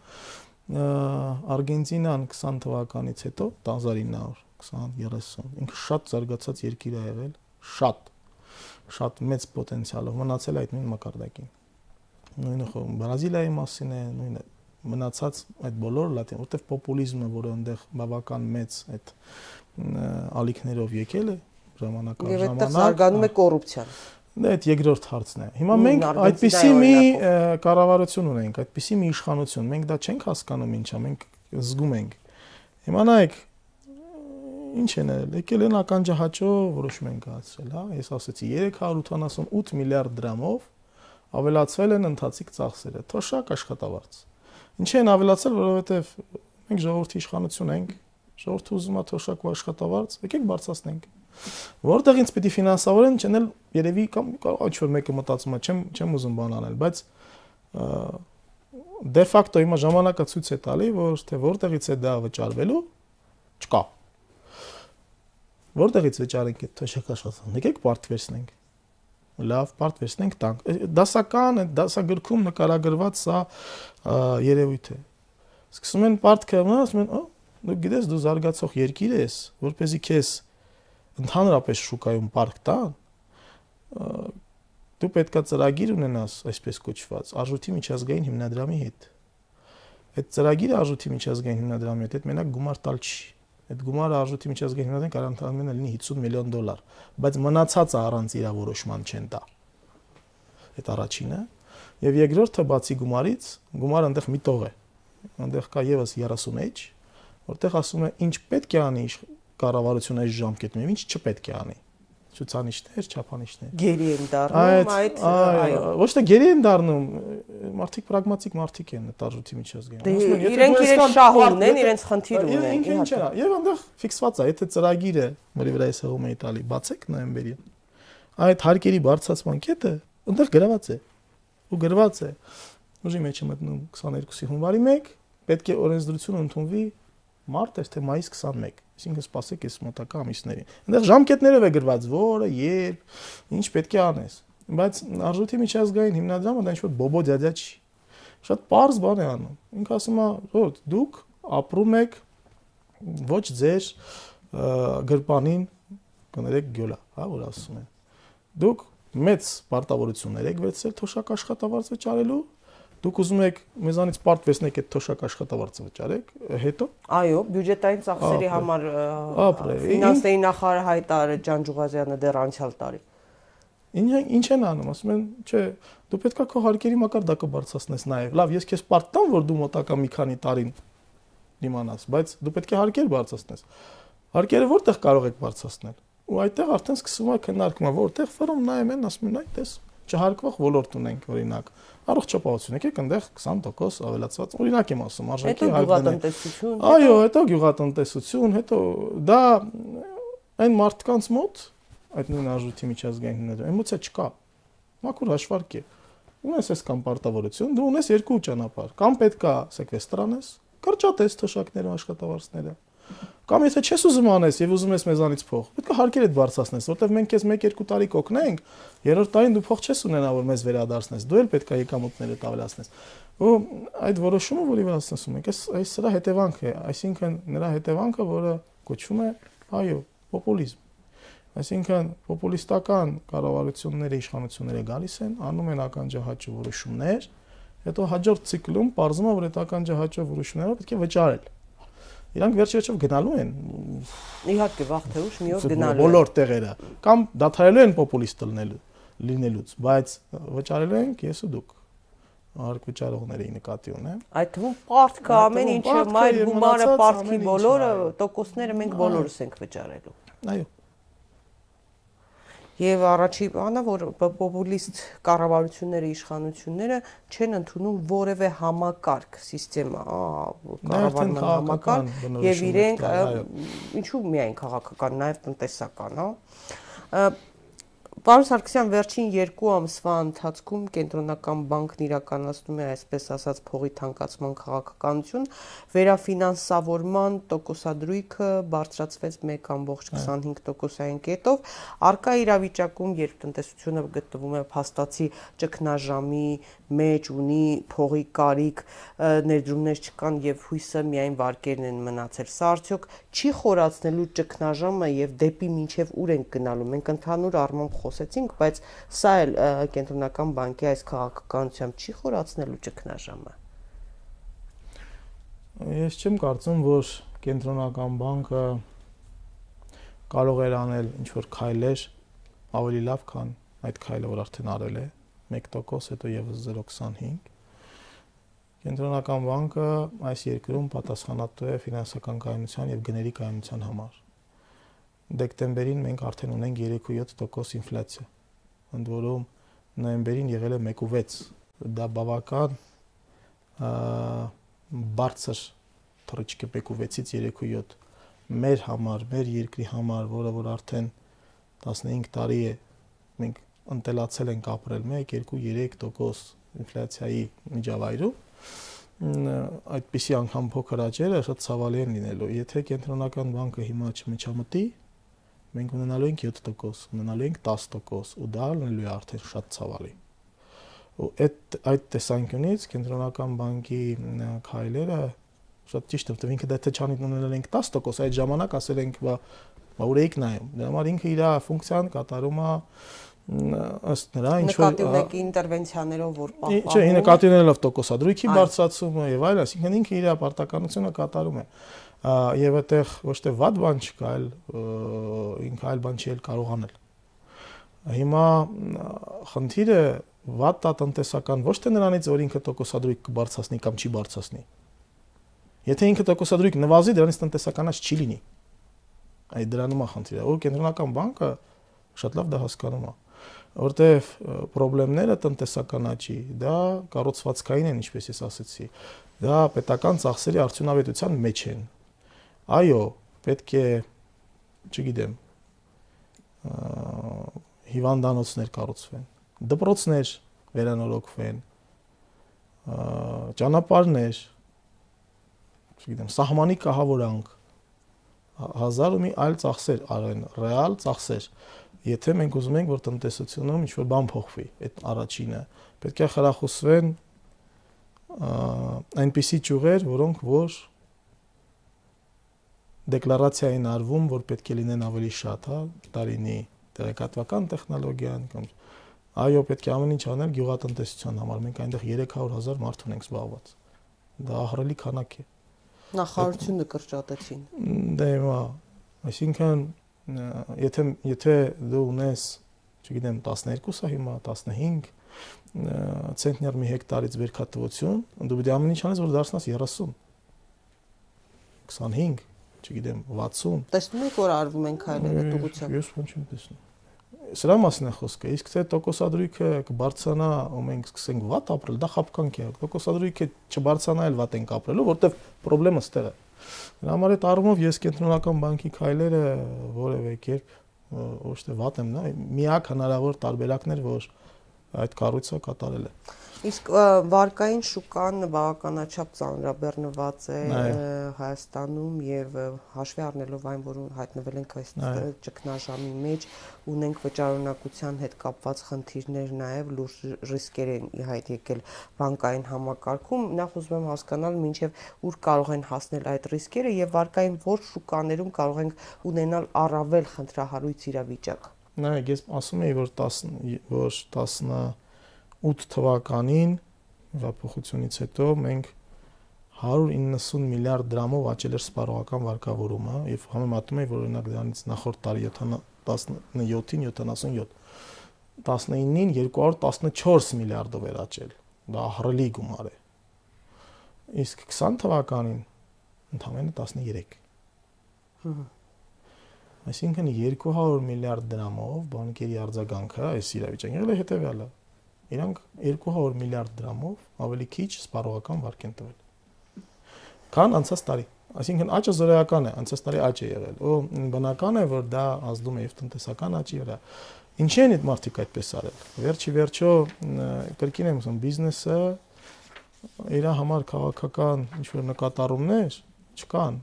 Արգենտինան 20 թվականից հետո 1920-30 ինքը շատ զարգացած երկիր է եղել, շատ մեծ պոտենցիալով մնացել այդ նույն մակարդակին։ Նույնը Բրազիլիայի մասին է, նույնը մնացած այդ բոլոր լատին, որտեղ պոպուլիզմը, որը այնտեղ բավական մեծ այդ ալիքներով եկել է ժամանակով եւ այդտեղ զարգանում է կոռուպցիան։ Դա այդ երկրորդ հարցն է։ Հիմա մենք այդպիսի մի կառավարություն ունենք, այդպիսի մի իշխանություն, մենք դա չենք հասկանում ինչա, մենք զգում ենք։ Հիմա նայեք, ինչ են եկել են ականջահաճո որոշում են կայացրել, հա, ես ասացի 388 միլիարդ դրամով ավելացվել են ընթացիկ ծախսերը, թոշակ աշխատավարձ։ Ինչ են ավելացել, որովհետև մենք ժողովրդի իշխանություն ենք, ժողովուրդը ուզում է թոշակ ու աշխատավարձ, եկեք բարձրացնենք։ Որտեղից պիտի ֆինանսավորեն, չնել երևի կամ ինչ որ մեկը մտածում է, չեմ ուզում բան անել, բայց դե ֆակտո հիմա ժամանակը ցույց է տալի, որ թե որտեղից է դա վճարվելու, Չկա։ Որտեղից վճարենք այդ թոշակ աշխատանքը։ Եկեք բարդ վերցնենք։ Լավ, բարդ վերցնենք տանք։ Դասական է, դասագրքում նկարագրված սա երևույթ է։ Սկսում են պարտքը մնալ, ասում են, դու գիտես, դու զարգացող երկիր ես, որպեսզի քեզ ընդհանրապես շուկայում պարկ տան, դու պետքա ծրագիր ունենաս, այսպես կոչված, արժույթի միջազգային հիմնադրամի հետ։ Այդ ծրագիրը արժույթի միջազգային հիմնադրամի հետ մենակ գումար տալ չի։ Այդ գումարը արժույթի միջազգային հիմնադրամին կարող ընդհանրապես լինի $50 միլիոն, բայց մնացածը առանց իրավորոշման չեն տա։ Այդ առաջինը, եւ երկրորդը բացի գումարից, գումարը այնտեղ մի տող է։ Այնտեղ կա եւս 30H, որտեղ ասում է ինչ պետք է անի կառավարությունը այս ժամկետում եւ ինչ չպետք է անի։ Ցուցանիշներ, չափանիշներ։ Գերի են դառնում այդ, այո, ոչ թե գերի են դառնում, մարդիկ պրագմատիկ մարդիկ են տարժույթի միջազգային։ Իրենք իրենց շահ ունեն, իրենց խնդիր ունեն։ Ինչ է, եւ այնտեղ ֆիքսված է, եթե ծրագիրը, որի վրա ես հողում էի տալի, բացեք նոյեմբերին, այդ հարկերի բարձրացման կետը այնտեղ գրված է։ Ու գրված է։ Ուժի մեջ է մտնում 22-ի հունվարի 1, պետք է օրենսդրությունը ընդունվի մարտ, թե մայիս 21, այսինքն սպասեք այս մոտակա ամիսներին։ Այնտեղ ժամկետներով է գրված, որը, երբ, ինչ պետք է անես։ Բայց արժույթի միջազգային հիմնադրամը դա ինչ-որ բոբո դյադյա չի։ Շատ պարզ բան է անում։ Ինքը ասում է, որ դուք ապրում եք ոչ ձեր գրպանին, կներեք գյոլա, հա, որ ասում են։ Դուք մեծ պարտավորություններ եք վերցրել թոշակ աշխատավարձ վճարելու։ Դուք ուզում եք մեզանից պարտ վերցնեք այդ թոշակ աշխատավարձը վճարեք, հետո այո, բյուջետային ծախսերի համար ֆինանսների նախարար հայտարարել Ջանջուղազյանը դեռ անցյալ տարի։ Ինչ են անում, ասում են, չէ, դու պետքա քո հարկերի մակարդակը բարձրացնես նաև։ Լավ, ես քեզ պարտ տամ, որ դու մոտակա մի քանի տարին դիմանաս, բայց դու պետք է հարկեր բարձրացնես։ Հարկերը որտեղ կարող եք բարձրացնել։ Ու այդտեղ արդեն սկսվում է քննարկումը, որտեղ ֆորում նայում են, ասում են, այ տես չհարկվող ոլորտ ունենք, օրինակ, առողջապահություն, եկեք այնտեղ 20% ավելացված, օրինակ եմ ասում, արժեքի գյուղատնտեսություն։ Այո, հետո գյուղատնտեսություն, հետո դա այն մարդկանց մոտ, այդ նույն արժույթի միջազգային հիմնադրամի, էմոցիա չկա։ Մաքուր հաշվարկ է։ Ունես այս կամ պարտավորություն, դու ունես երկու ճանապարհ, կամ պետքա սեկվեստր անես, կրճատես թոշակները, աշխատավարձները, կամ եթե չես ուզում անես եւ ուզում ես մեզանից փող, պետք է հարկեր այդ բարձրացնես, որտեվ մենք քեզ 1-2 տարի կօգնենք, երրորդ տարին դու փող չես ունենա, որ մեզ վերադարձնես, դու էլ պետք է եկամուտները ավելացնես։ Ու այդ որոշումը, որի վրա ասում ենք, այս սրա հետևանք է, այսինքն նրա հետևանքը, որը կոչվում է, այո, պոպուլիզմ։ Այսինքն պոպուլիստական կառավարությունները, իշխանությունները գալիս են, անում են ականջահաճո որոշումներ, հետո հաջորդ ցիկլում պարզվում է, որ այդ ականջահաճո որոշումները պետք է վճարել։ Իրանք վերջ-վերջով գնալու են։ Իհարկե, վաղ թե ուշ մի օր գնալու են։ Բոլոր տեղերը կամ դադարելու են պոպուլիստ լինելուց, բայց վճարելու են ես ու դուք։ Հարկ վճարողների նկատի ունեմ։ Այդ թվում պարտքը ամեն ինչը, մայր գումարը, պարտքի բոլորը, տոկոսները մենք բոլորս ենք վճարելու։ Այո։ Եվ առաջին բանը, որ պոպուլիստ կառավարությունները, իշխանությունները չեն ընդունում որևէ համակարգ, սիստեմա, կառավարման համակարգ, եւ իրենք ինչու միայն քաղաքական, նաեւ տնտեսական, հա։ Պարոն Սարգսյան, վերջին 2 ամսվա ընթացքում Կենտրոնական բանկն իրականացնում է, այսպես ասած, փողի թանկացման քաղաքականություն, վերաֆինանսավորման տոկոսադրույքը բարձրացվեց 1.25%-ային կետով, առկա իրավիճակում, երբ տնտեսությունը գտնվում է փաստացի ճգնաժամի մեջ, ունի փողի կարիք, ներդրումներ չկան եւ հույսը միայն վարկերն են մնացել, սա արդյոք չի խորացնելու ճգնաժամը եւ դեպի մինչեւ ուր ենք գնալու։ Մենք ընդհանուր առմամբ խոսեցինք, բայց սա էլ Կենտրոնական բանկի այս քաղաքականությամբ չի խորացնելու ճգնաժամը։ Ես չեմ կարծում, որ Կենտրոնական բանկը կարող էր անել ինչ-որ քայլեր ավելի լավ, քան այդ քայլը, որ արդեն արել է, 1%, հետո եւս 0.25։ Կենտրոնական բանկը այս երկրում պատասխանատու է ֆինանսական կայունության եւ գների կայունության համար։ Դեկտեմբերին մենք արդեն ունենք 3.7% ինֆլյացիա, ընդ որում նոյեմբերին եղել է 1.6։ Դա բավական բարձր թռիչք է 1.6-ից 3.7։ Մեր համար, մեր երկրի համար, որը որ արդեն 15 տարի է մենք ընտելացել ենք ապրել 1, 2, 3% ինֆլյացիայի միջավայրում, այդպիսի անգամ փոքր աճերը շատ ցավալի են լինելու։ Եթե կենտրոնական բանկը հիմա չմիջամտի, մենք ունենալու ենք 7%, ունենալու ենք 10%, ու դա լինելու է արդեն շատ ցավալի։ Ու այդ տեսանկյունից կենտրոնական բանկի քայլերը շատ ճիշտ է, որտեղ ինքը դա թե չանի ունենալ ենք 10%, այդ ժամանակ ասել ենք, բա ուր էիք նայում։ Դրա համար ինքը իր ֆունկցիան կատարում է ըստ նրա ինչ որ նկատի ունեք ինտերվենցիաներով որ պահպանում։ Չէ, նկատի ունելով տոկոսադրույքի բարձրացումը եւ այլն, այսինքն ինքը իր պարտականությունը կատարում է։ Եվ այդտեղ ոչ թե վատ բան չկա, այլ ինքը այլ բան չի կարող անել։ Հիմա խնդիրը վատ է տնտեսական ոչ թե նրանից, որ ինքը տոկոսադրույք կբարձրացնի կամ չի բարձրացնի։ Եթե ինքը տոկոսադրույք նվազի, դրանից տնտեսականաց չի լինի։ Այդ դրանում է խնդիրը։ Ու կենտրոնական բանկը շատ լավ դա հասկանում է, որտեղ խնդիրները տնտեսական աճի, դա կառուցվածքային են, ինչպես ես ասացի, դա պետական ծախսերի արդյունավետության մեջ են։ Այո, պետք է, չգիտեմ, հիվանդանոցներ կառուցվեն, դպրոցներ վերանորոգվեն, ճանապարհներ, չգիտեմ, սահմանի կահավորանք, հազար ու մի այլ ծախսեր արեն, ռեալ ծախսեր։ Եթե մենք ուզում ենք, որ տնտեսությունում ինչ-որ բան փոխվի, այդ առաջինը, պետք է խրախուսվեն այնպիսի ճյուղեր, որոնք որ դեկլարացիա են արվում, որ պետք է լինեն ավելի շատ, հա, տարինի տեղեկատվական տեխնոլոգիան կամ այո, պետք է ամեն ինչ անել գյուղատնտեսության համար։ Մենք այնտեղ 300,000 մարդ ունենք զբաղված։ Դա ահռելի քանակ է։ Նախարարությունը կրճատեցին։ Դե հիմա, այսինքն եթե դու ունես, չգիտեմ, 12-ը հիմա 15 ցենտներ մի հեկտարից վերքատվություն, դու պետք է ամեն ինչ անես, որ դարձնաս 30, 25, չգիտեմ, 60։ Տեսնում եք, որ արվում են քայլերը դուգությամբ։ Ես ոչ չեմ տեսնում։ Սրա մասին է խոսքը։ Իսկ թե տոկոսադրույքը կբարձրանա, ու մենք սկսենք վատ ապրել, դա խաբկանք է։ Տոկոսադրույքը չբարձրանա, էլ վատ ենք ապրելու, որտեվ խնդրեմը ստեղ է։ Դրա համար այդ առումով ես կենտրոնական բանկի քայլերը որևէ կերպ ոչ թե վատ եմ, միակ հնարավոր տարբերակն էր, որ այդ կառույցը կատարել է։ Իսկ վարկային շուկան բավականաչափ ծանրաբեռնված է Հայաստանում եւ հաշվի առնելով այն, որ հայտնվել ենք այս ճգնաժամի մեջ, ունենք վճարունակության հետ կապված խնդիրներ նաեւ լուրջ ռիսկեր են իհայտ եկել բանկային համակարգում։ Նախ ուզում եմ հասկանալ, մինչեւ ուր կարող են հասնել այդ ռիսկերը եւ վարկային որ շուկաներում կարող ենք ունենալ առավել խնդրահարույց իրավիճակ։ Նայեք, ես ասում եի, որ 18 թվականին հեղափոխությունից հետո մենք 190 միլիարդ դրամով աճել էր սպառողական վարկավորումը եւ համեմատում էի, որ օրինակ դրանից նախորդ տարի 17-ին 77, 19-ին 214 միլիարդով էր աճել։ Դա ահռելի գումար է։ Իսկ 20 թվականին ընդամենը 13։ Այսինքն 200 միլիարդ դրամով բանկերի արձագանքը այս իրավիճակին եղել է հետեւյալը։ Իրանք 200 միլիարդ դրամով ավելի քիչ սպառողական վարկ են տվել։ Քան անցած տարի։ Այսինքն աճը զորայական է, անցած տարի աճ է եղել։ Ու բնական է, որ դա ազդում է եւ տնտեսական աճի վրա։ Ինչի են այդ մարդիկ այդպես արել։ Վերջի վերջո կրկին եմ ասում, բիզնեսը իր համար քաղաքական ինչ-որ նկատառումներ չկան,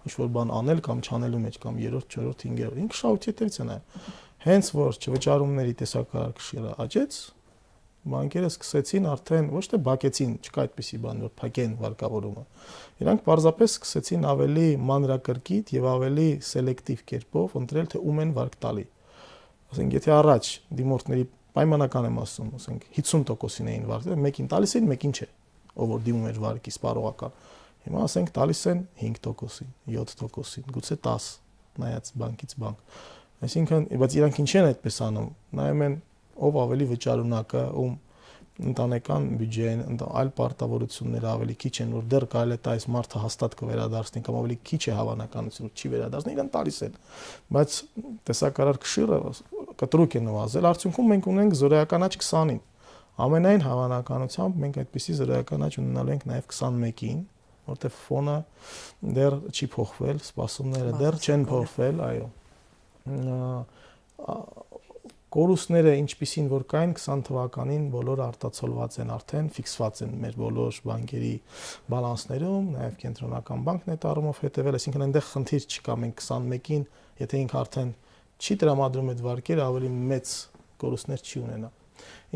ինչ-որ բան անել կամ չանելու մեջ կամ 3-րդ, 4-րդ, 5-րդ։ Ինքը շահույթի հետևից է նայում։ Հենց որ չվճարումների տեսակարար քշիռը աճեց, բանկերը սկսեցին արդեն ոչ թե բակեցին, չկա այդպիսի բան, որ փակեն վարկավորումը։ Իրանք պարզապես սկսեցին ավելի մանրակրկիտ եւ ավելի սելեկտիվ կերպով ընտրել, թե ում են վարկ տալի։ Ասենք, եթե առաջ դիմորդների պայմանական եմ ասում, ասենք 50%-ին էին վարկել, մեկին տալիս էին, մեկին չէ, ով որ դիմում էր վարկի սպառողական։ Հիմա ասենք տալիս են 5%-ին, 7%-ին, գուցե 10, նայած բանկից բանկ։ Այսինքն, բայց իրանք ինչ են այդպես անում, նայում են ով ավելի վճարունակը, ում ընտանեկան բյուջեն, այլ պարտավորությունները ավելի քիչ են, որ դեռ կարելի է այս մարդը հաստատ կվերադառնի կամ ավելի քիչ է հավանականությունը չի վերադառնի, իրեն տալիս են։ Բայց տեսակարար քշիռը կտրուկ է նվազել, արդյունքում մենք ունենք զորայական աճ 20-ին։ Ամենայն հավանականությամբ մենք այդպիսի զորայական աճ ունենալու ենք նաև 21-ին, որտեղ ֆոնը դեռ չի փոխվել, սպասումները դեռ չեն փոխվել, այո։ կորուստները ինչպիսին որ կային 20 թվականին բոլորը արտացոլված են արդեն, ֆիքսված են մեր բոլոր բանկերի բալանսներում, նաև կենտրոնական բանկն է առումով հետևել, այսինքն այնտեղ խնդիր չկա, մենք 21-ին, եթե ինքը արդեն չի տրամադրում այդ վարկերը, ավելի մեծ կորուստներ չի ունենա։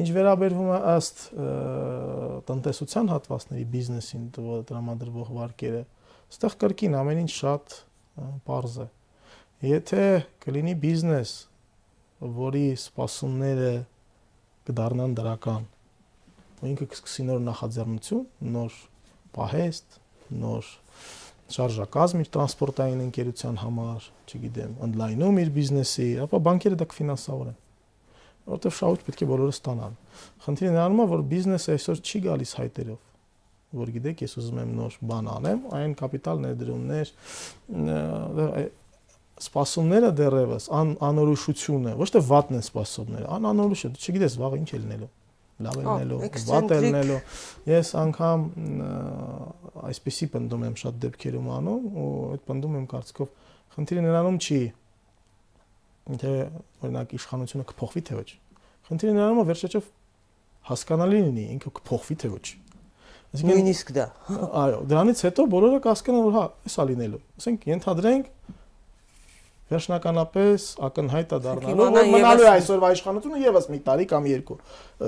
Ինչ վերաբերվում է ըստ տնտեսության հատվածների բիզնեսին տրամադրվող վարկերը, այստեղ կրկին ամեն ինչ շատ պարզ է։ Եթե կլինի բիզնես, որի սպասումները կդառնան դրական, ու ինքը կսկսի նոր նախաձեռնություն, նոր պահեստ, նոր շարժակազմ իր տրանսպորտային ընկերության համար, չգիտեմ, ընդլայնում իր բիզնեսի, ապա բանկերը դա կֆինանսավորեն, որովհետև շահույթ պետք է բոլորը ստանան։ Խնդիրը նրանում է, որ բիզնեսը այսօր չի գալիս հայտերով, որ գիտեք, ես ուզում եմ նոր բան անեմ, այն կապիտալ ներդրումներ, սպասումները դեռևս անորոշությունը, ոչ թե վատն են սպասումները, անորոշ է, դու չգիտես վաղը ինչ է լինելու, լավ է լինելու, վատ է լինելու։ Ես անգամ այսպեսի պնդում եմ շատ դեպքերում անում, ու այդ պնդում եմ կարծիքով խնդիրը նրանում չի, թե օրինակ իշխանությունը կփոխվի թե ոչ։ Խնդիրը նրանում է վերջեջով հասկանալի լինի, ինքը կփոխվի թե ոչ։ Նույնիսկ դա։ Այո, դրանից հետո բոլորը կհասկանան, որ հա, էսա լինելու։ Ասենք ենթադրենք վերջնականապես ակնհայտ է դառնալու, որ մնալու է այսօրվա իշխանությունը եւս մի տարի կամ երկու։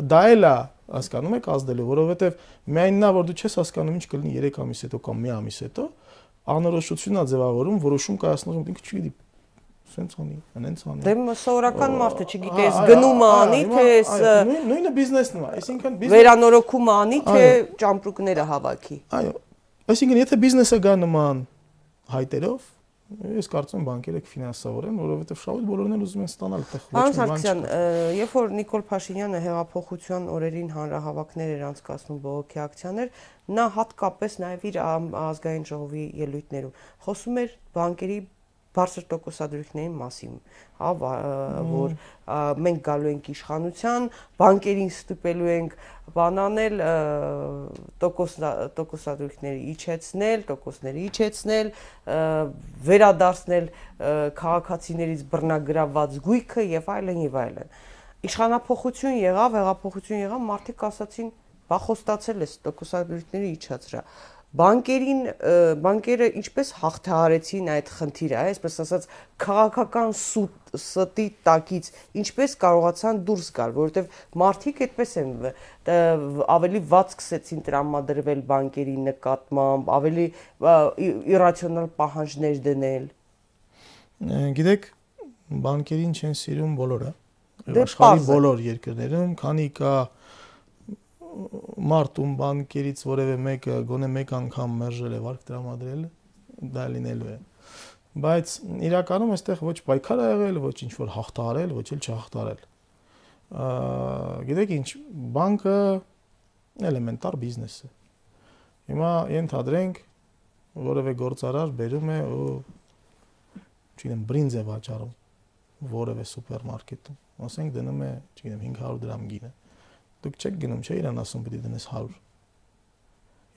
Դա էլ է, հասկանում եք, ազդելու, որովհետեւ միայն նա, որ դու չես հասկանում ինչ կլինի 3 ամիս հետո կամ մի ամիս հետո, անորոշությունն է ձևավորում, որոշում կայացնում ինքը չգիտի, սենց անի, անենց անի։ Դե սովորական մարդը չգիտի, ես գնում անի, թե ես նույնը բիզնեսն է, այսինքն վերանորոգում անի, թե ճամպրուկները հավաքի։ Այո, այսինքն եթե բիզնեսը գա նման հայտերով, ես կարծում եմ բանկերը կֆինանսավորեն, որովհետև շահույթ բոլորն էլ ուզում են ստանալ այդտեղ ոչ մի բան չկա։ Երբ որ Նիկոլ Փաշինյանը հեղափոխության օրերին հանրահավաքներ էր անցկացնում բողոքի ակցիաներ, նա հատկապես նաև իր ազգային ժողովի ելույթներում խոսում էր բանկերի բարձր տոկոսադրույքների մասին, որ մենք գալու ենք իշխանության, բանկերին ստուպելու ենք բանանել, տոկոսադրույքները իջեցնել, վերադարձնել քաղաքացիներից բռնագրավված գույքը եւ այլն եւ այլն։ Իշխանափոխություն եղավ, հեղափոխություն եղավ, մարդիկ ասացին, բա խոստացել ես տոկոսադրույքները իջացրա։ Բանկերը ինչպես հաղթահարեցին այդ խնդիրը, այսպես ասած, քաղաքական ստի տակից ինչպես կարողացան դուրս գալ, որովհետև մարդիկ այդպես են ավելի վատ սկսեցին տրամադրվել բանկերի նկատմամբ, ավելի իրացիոնալ պահանջներ դնել։ Գիտեք, բանկերին չեն սիրում բոլորը, աշխարհի բոլոր երկրներում, քանի կա մարդում բանկերից որևէ մեկը գոնե մեկ անգամ մերժել է վարկ տրամադրել, դա լինելու է։ Բայց իրականում այստեղ ոչ պայքար ա եղել, ոչ ինչ որ հաղթահարել, ոչ էլ չհաղթահարել։ Գիտեք ինչ, բանկը էլեմենտար բիզնես է։ Հիմա ենթադրենք որևէ գործարար բերում է ու չգիտեմ բրինձ է վաճառում որևէ սուպերմարկետում, ասենք դնում է, չգիտեմ 500 դրամ գինը։ Դուք չեք գնում, չէ՞ իրան ասում պիտի դնես 100։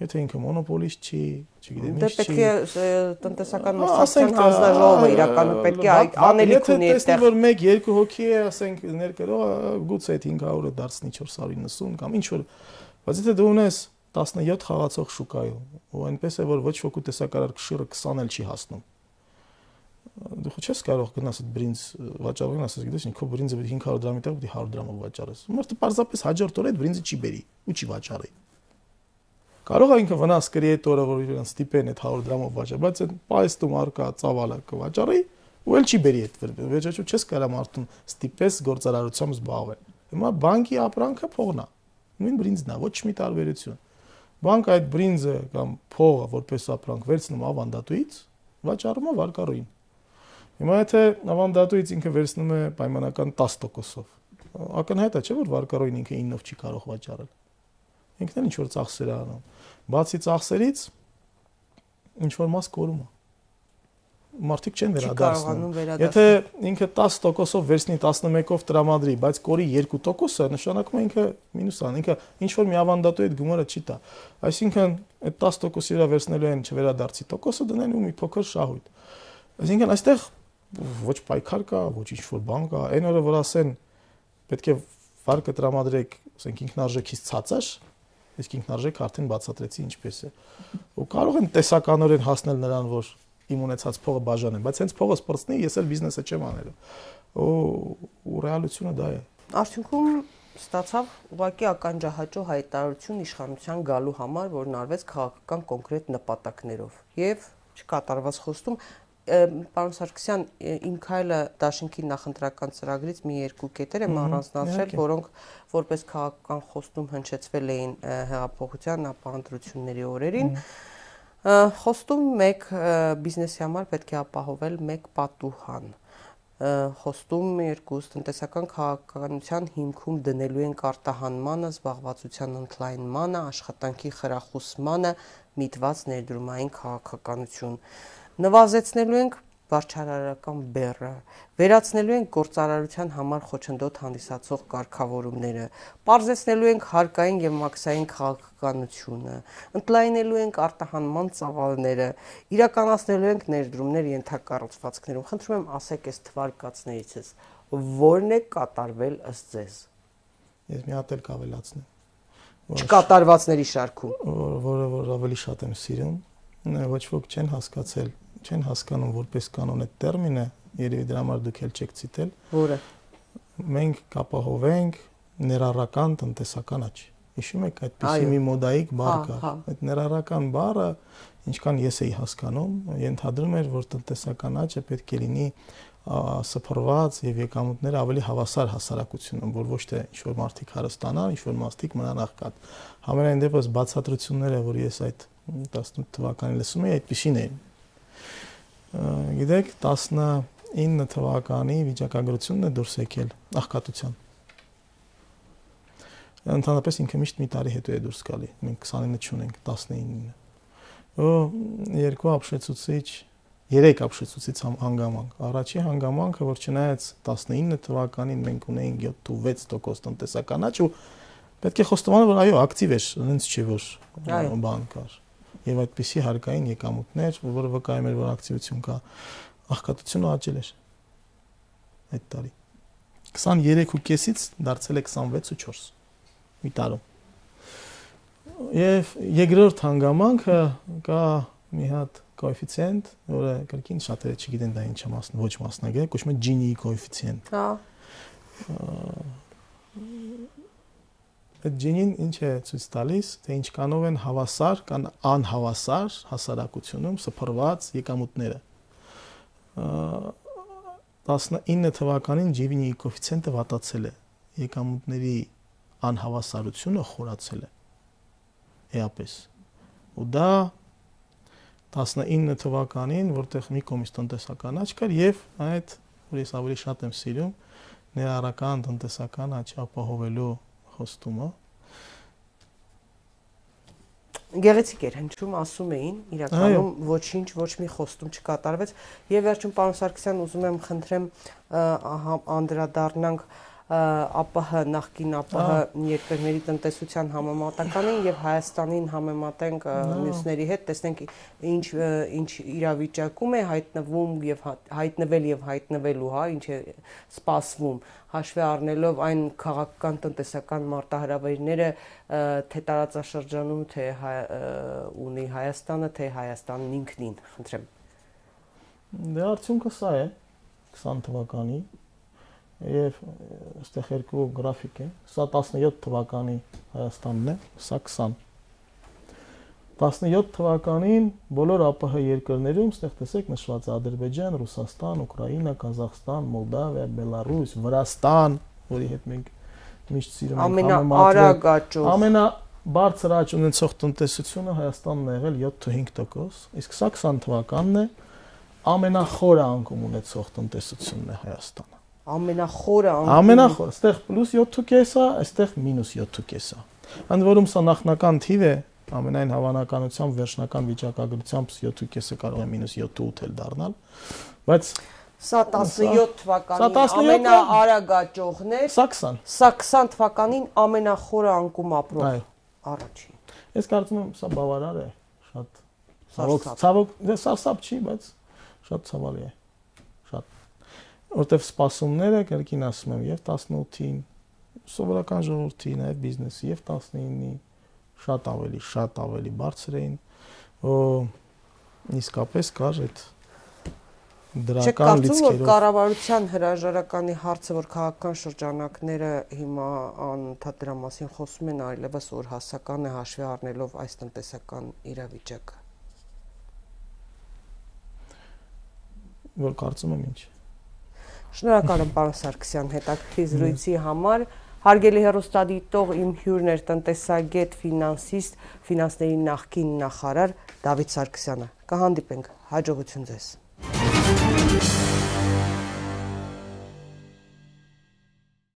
Եթե ինքը մոնոպոլիստ չի, չգիտեմ ինչ չի։ Դե պետք է տնտեսական մրցակցության հանձնաժողովը իրականում պետք է անելիք ունի այդտեղ։ Եթե որ 1-2 հոգի է, ասենք ներկրող, գուցե այդ 500-ը դարձնի 490 կամ ինչ որ, բայց եթե դու ունես 17 խաղացող շուկայում, ու այնպես է որ ոչ ոքի տեսակարար կշիռը 20 էլ չի հասնում։ Դու չես կարող գնաս այդ բրինձ վաճառողին ասես, գիտես, ինքո բրինձը 500 դրամի տեղ պիտի 100 դրամով վաճառես։ Մարդը պարզապես հաջորդ օրը այդ բրինձը չի բերի ու չի վաճառի։ Կարող է ինքը վնաս կրի այդ օրը, որ իրեն ստիպեն այդ 100 դրամով վաճառ, բայց այդ պայստում արկա ծավալը կվաճառի ու էլ չի բերի այդ վերջեջու չես կարա մարդուն ստիպես գործարարությամբ զբաղվել։ Հիմա բանկի ապրանքը փողն է։ Նույն բրինձն է, ոչ մի տարբերություն։ Բանկը այդ բրինձը կամ փողը որպես ապրանք վերցնում ավանդատուից, վաճառում է վարկառուին։ Հիմա եթե ավանդատուից ինքը վերցնում է պայմանական 10%-ով, ակնհայտ է, չէ՞ որ վարկառուին ինքը 9-ով չի կարող վաճառել։ Ինքն էլ ինչ որ ծախսեր է անում։ Բացի ծախսերից ինչ որ մաս կորում է։ Մարդիկ չեն վերադարձնում։ Եթե ինքը 10%-ով վերցնի 11-ով տրամադրի, բայց կորի 2%-ը, նշանակում է ինքը մինուս ան, ինքը ինչ որ մի ավանդատու այդ գումարը չի տա։ Այսինքն այդ 10%-ի վրա վերցնելու են չվերադարձի տոկոսը դնեն ու մի փոքր շահույթ։ Այսինքն այստեղ ոչ պայքար կա, ոչ ինչ որ բան կա, այն օրը որ ասեն պետք է վարկը տրամադրեք, ասենք ինքնարժեքից ցածր, իսկ ինքնարժեքը արդեն բացատրեցի ինչպես է։ Ու կարող են տեսականորեն հասնել նրան, որ իմ ունեցած փողը բաժանեմ, բայց հենց փողը սպրծնի, ես էլ բիզնեսը չեմ անելու։ Ու ռեալությունը դա է։ Արդյունքում ստացավ ուղղակի ականջահաճո հայտարարություն իշխանության գալու համար, որն արվեց քաղաքական կոնկրետ նպատակներով եւ չկատարված խոստում։ Պարոն Սարգսյան, իմ քայլը դաշինքի նախընտրական ծրագրից մի երկու կետեր եմ առանձնացրել, որոնք որպես քաղաքական խոստում հնչեցվել էին հեղափոխության ապահանջությունների օրերին։ Խոստում 1 բիզնեսի համար պետք է ապահովել 1 պատուհան։ Խոստում 2 տնտեսական քաղաքականության հիմքում դնելու են արտահանմանը, զբաղվածության ընդլայնմանը, աշխատանքի խրախուսմանը միտված ներդրումային քաղաքականություն։ Նվազեցնելու ենք վարչարարական բեռը, վերացնելու ենք գործարարության համար խոչընդոտ հանդիսացող կարգավորումները, պարզեցնելու ենք հարկային եւ մաքսային քաղաքականությունը, ընդլայնելու ենք արտահանման ծավալները, իրականացնելու ենք ներդրումներ ենթակառուցվածքներում։ Խնդրում եմ ասեք այս թվարկածներիցս որն է կատարվել ըստ ձեզ։ Ես մի հատ էլ կավելացնեմ։ Չկատարվածների շարքում, որ ավելի շատ եմ սիրում, ոչ ոք չեն հասկանում որպես կանոն այդ տերմինը, երևի դրա համար դուք էլ չեք ցիտել, որը մենք կապահովենք ներառական տնտեսական աճ։ Հիշում եք այդպիսի մի մոդայիկ բառ կար։ Այդ ներառական բառը, ինչքան ես էի հասկանում, ենթադրում էր, որ տնտեսական աճը պետք է լինի սփռված եւ եկամուտները ավելի հավասար հասարակությունում, որ ոչ թե ինչ որ մարդիկ հարստանան, ինչ որ մարդիկ մնան աղքատ։ Համենայն դեպս բացատրությունները, որ ես այդ 18 թվականին լսում էի, այդպիսին էին։ Գիտեք, 19 թվականի վիճակագրությունն է դուրս եկել աղքատության։ Ընդհանրապես ինքը միշտ մի տարի հետո է դուրս գալի։ Մենք 29-ը չունենք, 19-ը։ Երկու ապշեցուցիչ, 3 ապշեցուցիչ հանգամանք։ Առաջի հանգամանքը, որ չնայած 19 թվականին մենք ունեինք 7.6% տնտեսական աճ, ու պետք է խոստովանել, որ այո, ակտիվ էր, հենց չէ որ բան կար։ Եվ այդպիսի հարկային եկամուտներ, որը վկայում էր, որ ակտիվություն կա, աղքատությունը աճել էր այդ տարի։ 23.5-ից դարձել է 26.4 մի տարում։ Եվ երկրորդ հանգամանքը կա մի հատ կոեֆիցիենտ, որը կրկին շատերը չգիտեն դա ինչ է ոչ մասնագետ, կոչվում է Gini կոեֆիցիենտ։ Հա։ Այդ Gini-ն ինչ է ցույց տալիս, թե ինչքանով են հավասար կամ անհավասար հասարակությունում սփռված եկամուտները։ 19 թվականին Gini կոեֆիցիենտը վատացել է, եկամուտների անհավասարությունը խորացել է էապես։ Ու դա 19 թվականին, որտեղ մի կողմից տնտեսական աճ կար եւ այդ, որ ես ավելի շատ եմ սիրում, ներառական տնտեսական աճ ապահովելու խոստումը։ Գեղեցիկ էր հնչում, ասում էին, իրականում ոչինչ, ոչ մի խոստում չկատարվեց եւ վերջում պարոն Սարգսյան ուզում եմ խնդրեմ անդրադառնանք ԱՊՀ նախկին ԱՊՀ երկրների տնտեսության համեմատականին եւ Հայաստանին համեմատենք մյուսների հետ, տեսնենք ինչ իրավիճակում է հայտնվում եւ հայտնվել եւ հայտնվելու, հա, ինչ է սպասվում, հաշվի առնելով այն քաղաքական տնտեսական մարտահրավերները, թե տարածաշրջանում, թե ունի Հայաստանը, թե Հայաստանն ինքնին, խնդրեմ։ Դե արդյունքը սա է 20 թվականի եւ այստեղ երկու գրաֆիկ է, սա 17 թվականի Հայաստանն է, սա 20։ 17 թվականին բոլոր ԱՊՀ երկրներում, այստեղ տեսեք նշված է Ադրբեջան, Ռուսաստան, Ուկրաինա, Կազախստան, Մոլդավիա, Բելարուս, Վրաստան, որի հետ մենք միշտ սիրում ենք ամենաարագ աճող, ամենաբարձր աճ ունեցող տնտեսությունը Հայաստանն է եղել 7.5%, իսկ սա 20 թվականն է, ամենախորը անկում ունեցող տնտեսությունն է Հայաստանը։ Ամենախորը անկում։ Ամենախորը, այստեղ +7.5 է, այստեղ -7.5 է։ Ընդ որում սա նախնական թիվ է, ամենայն հավանականությամբ վերջնական վիճակագրությամբ 7.5-ը կարող է -7.8 էլ դառնալ, բայց սա 17 թվականին ամենաարագ աճողն է, սա 20։ Սա 20 թվականին ամենախորը անկում ապրող առաջին։ Ես կարծում եմ սա բավարար է, շատ ցավոք, դե սարսափ չի, բայց շատ ցավալի է։ Շատ որտեվ սպասումները կրկին ասում եմ եւ 18-ին սովորական ժողովրդի, նաև բիզնեսի եւ 19-ի շատ ավելի բարձր էին, իսկապես կար այդ դրական լիցքերով։ Չկարծում, որ կառավարության հրաժարականի հարցը, որ քաղաքական շրջանակները հիմա անընդհատ դրա մասին խոսում են, այլևս օրհասական է հաշվի առնելով այս տնտեսական իրավիճակը։ Որ կարծում եմ ինչ։ Շնորհակալ եմ պարոն Սարգսյան հետաքրքիր զրույցի համար։ Հարգելի հեռուստադիտող, իմ հյուրն էր տնտեսագետ, ֆինանսիստ, ֆինանսների նախկին նախարար Դավիթ Սարգսյանը։ Կհանդիպենք, հաջողություն ձեզ։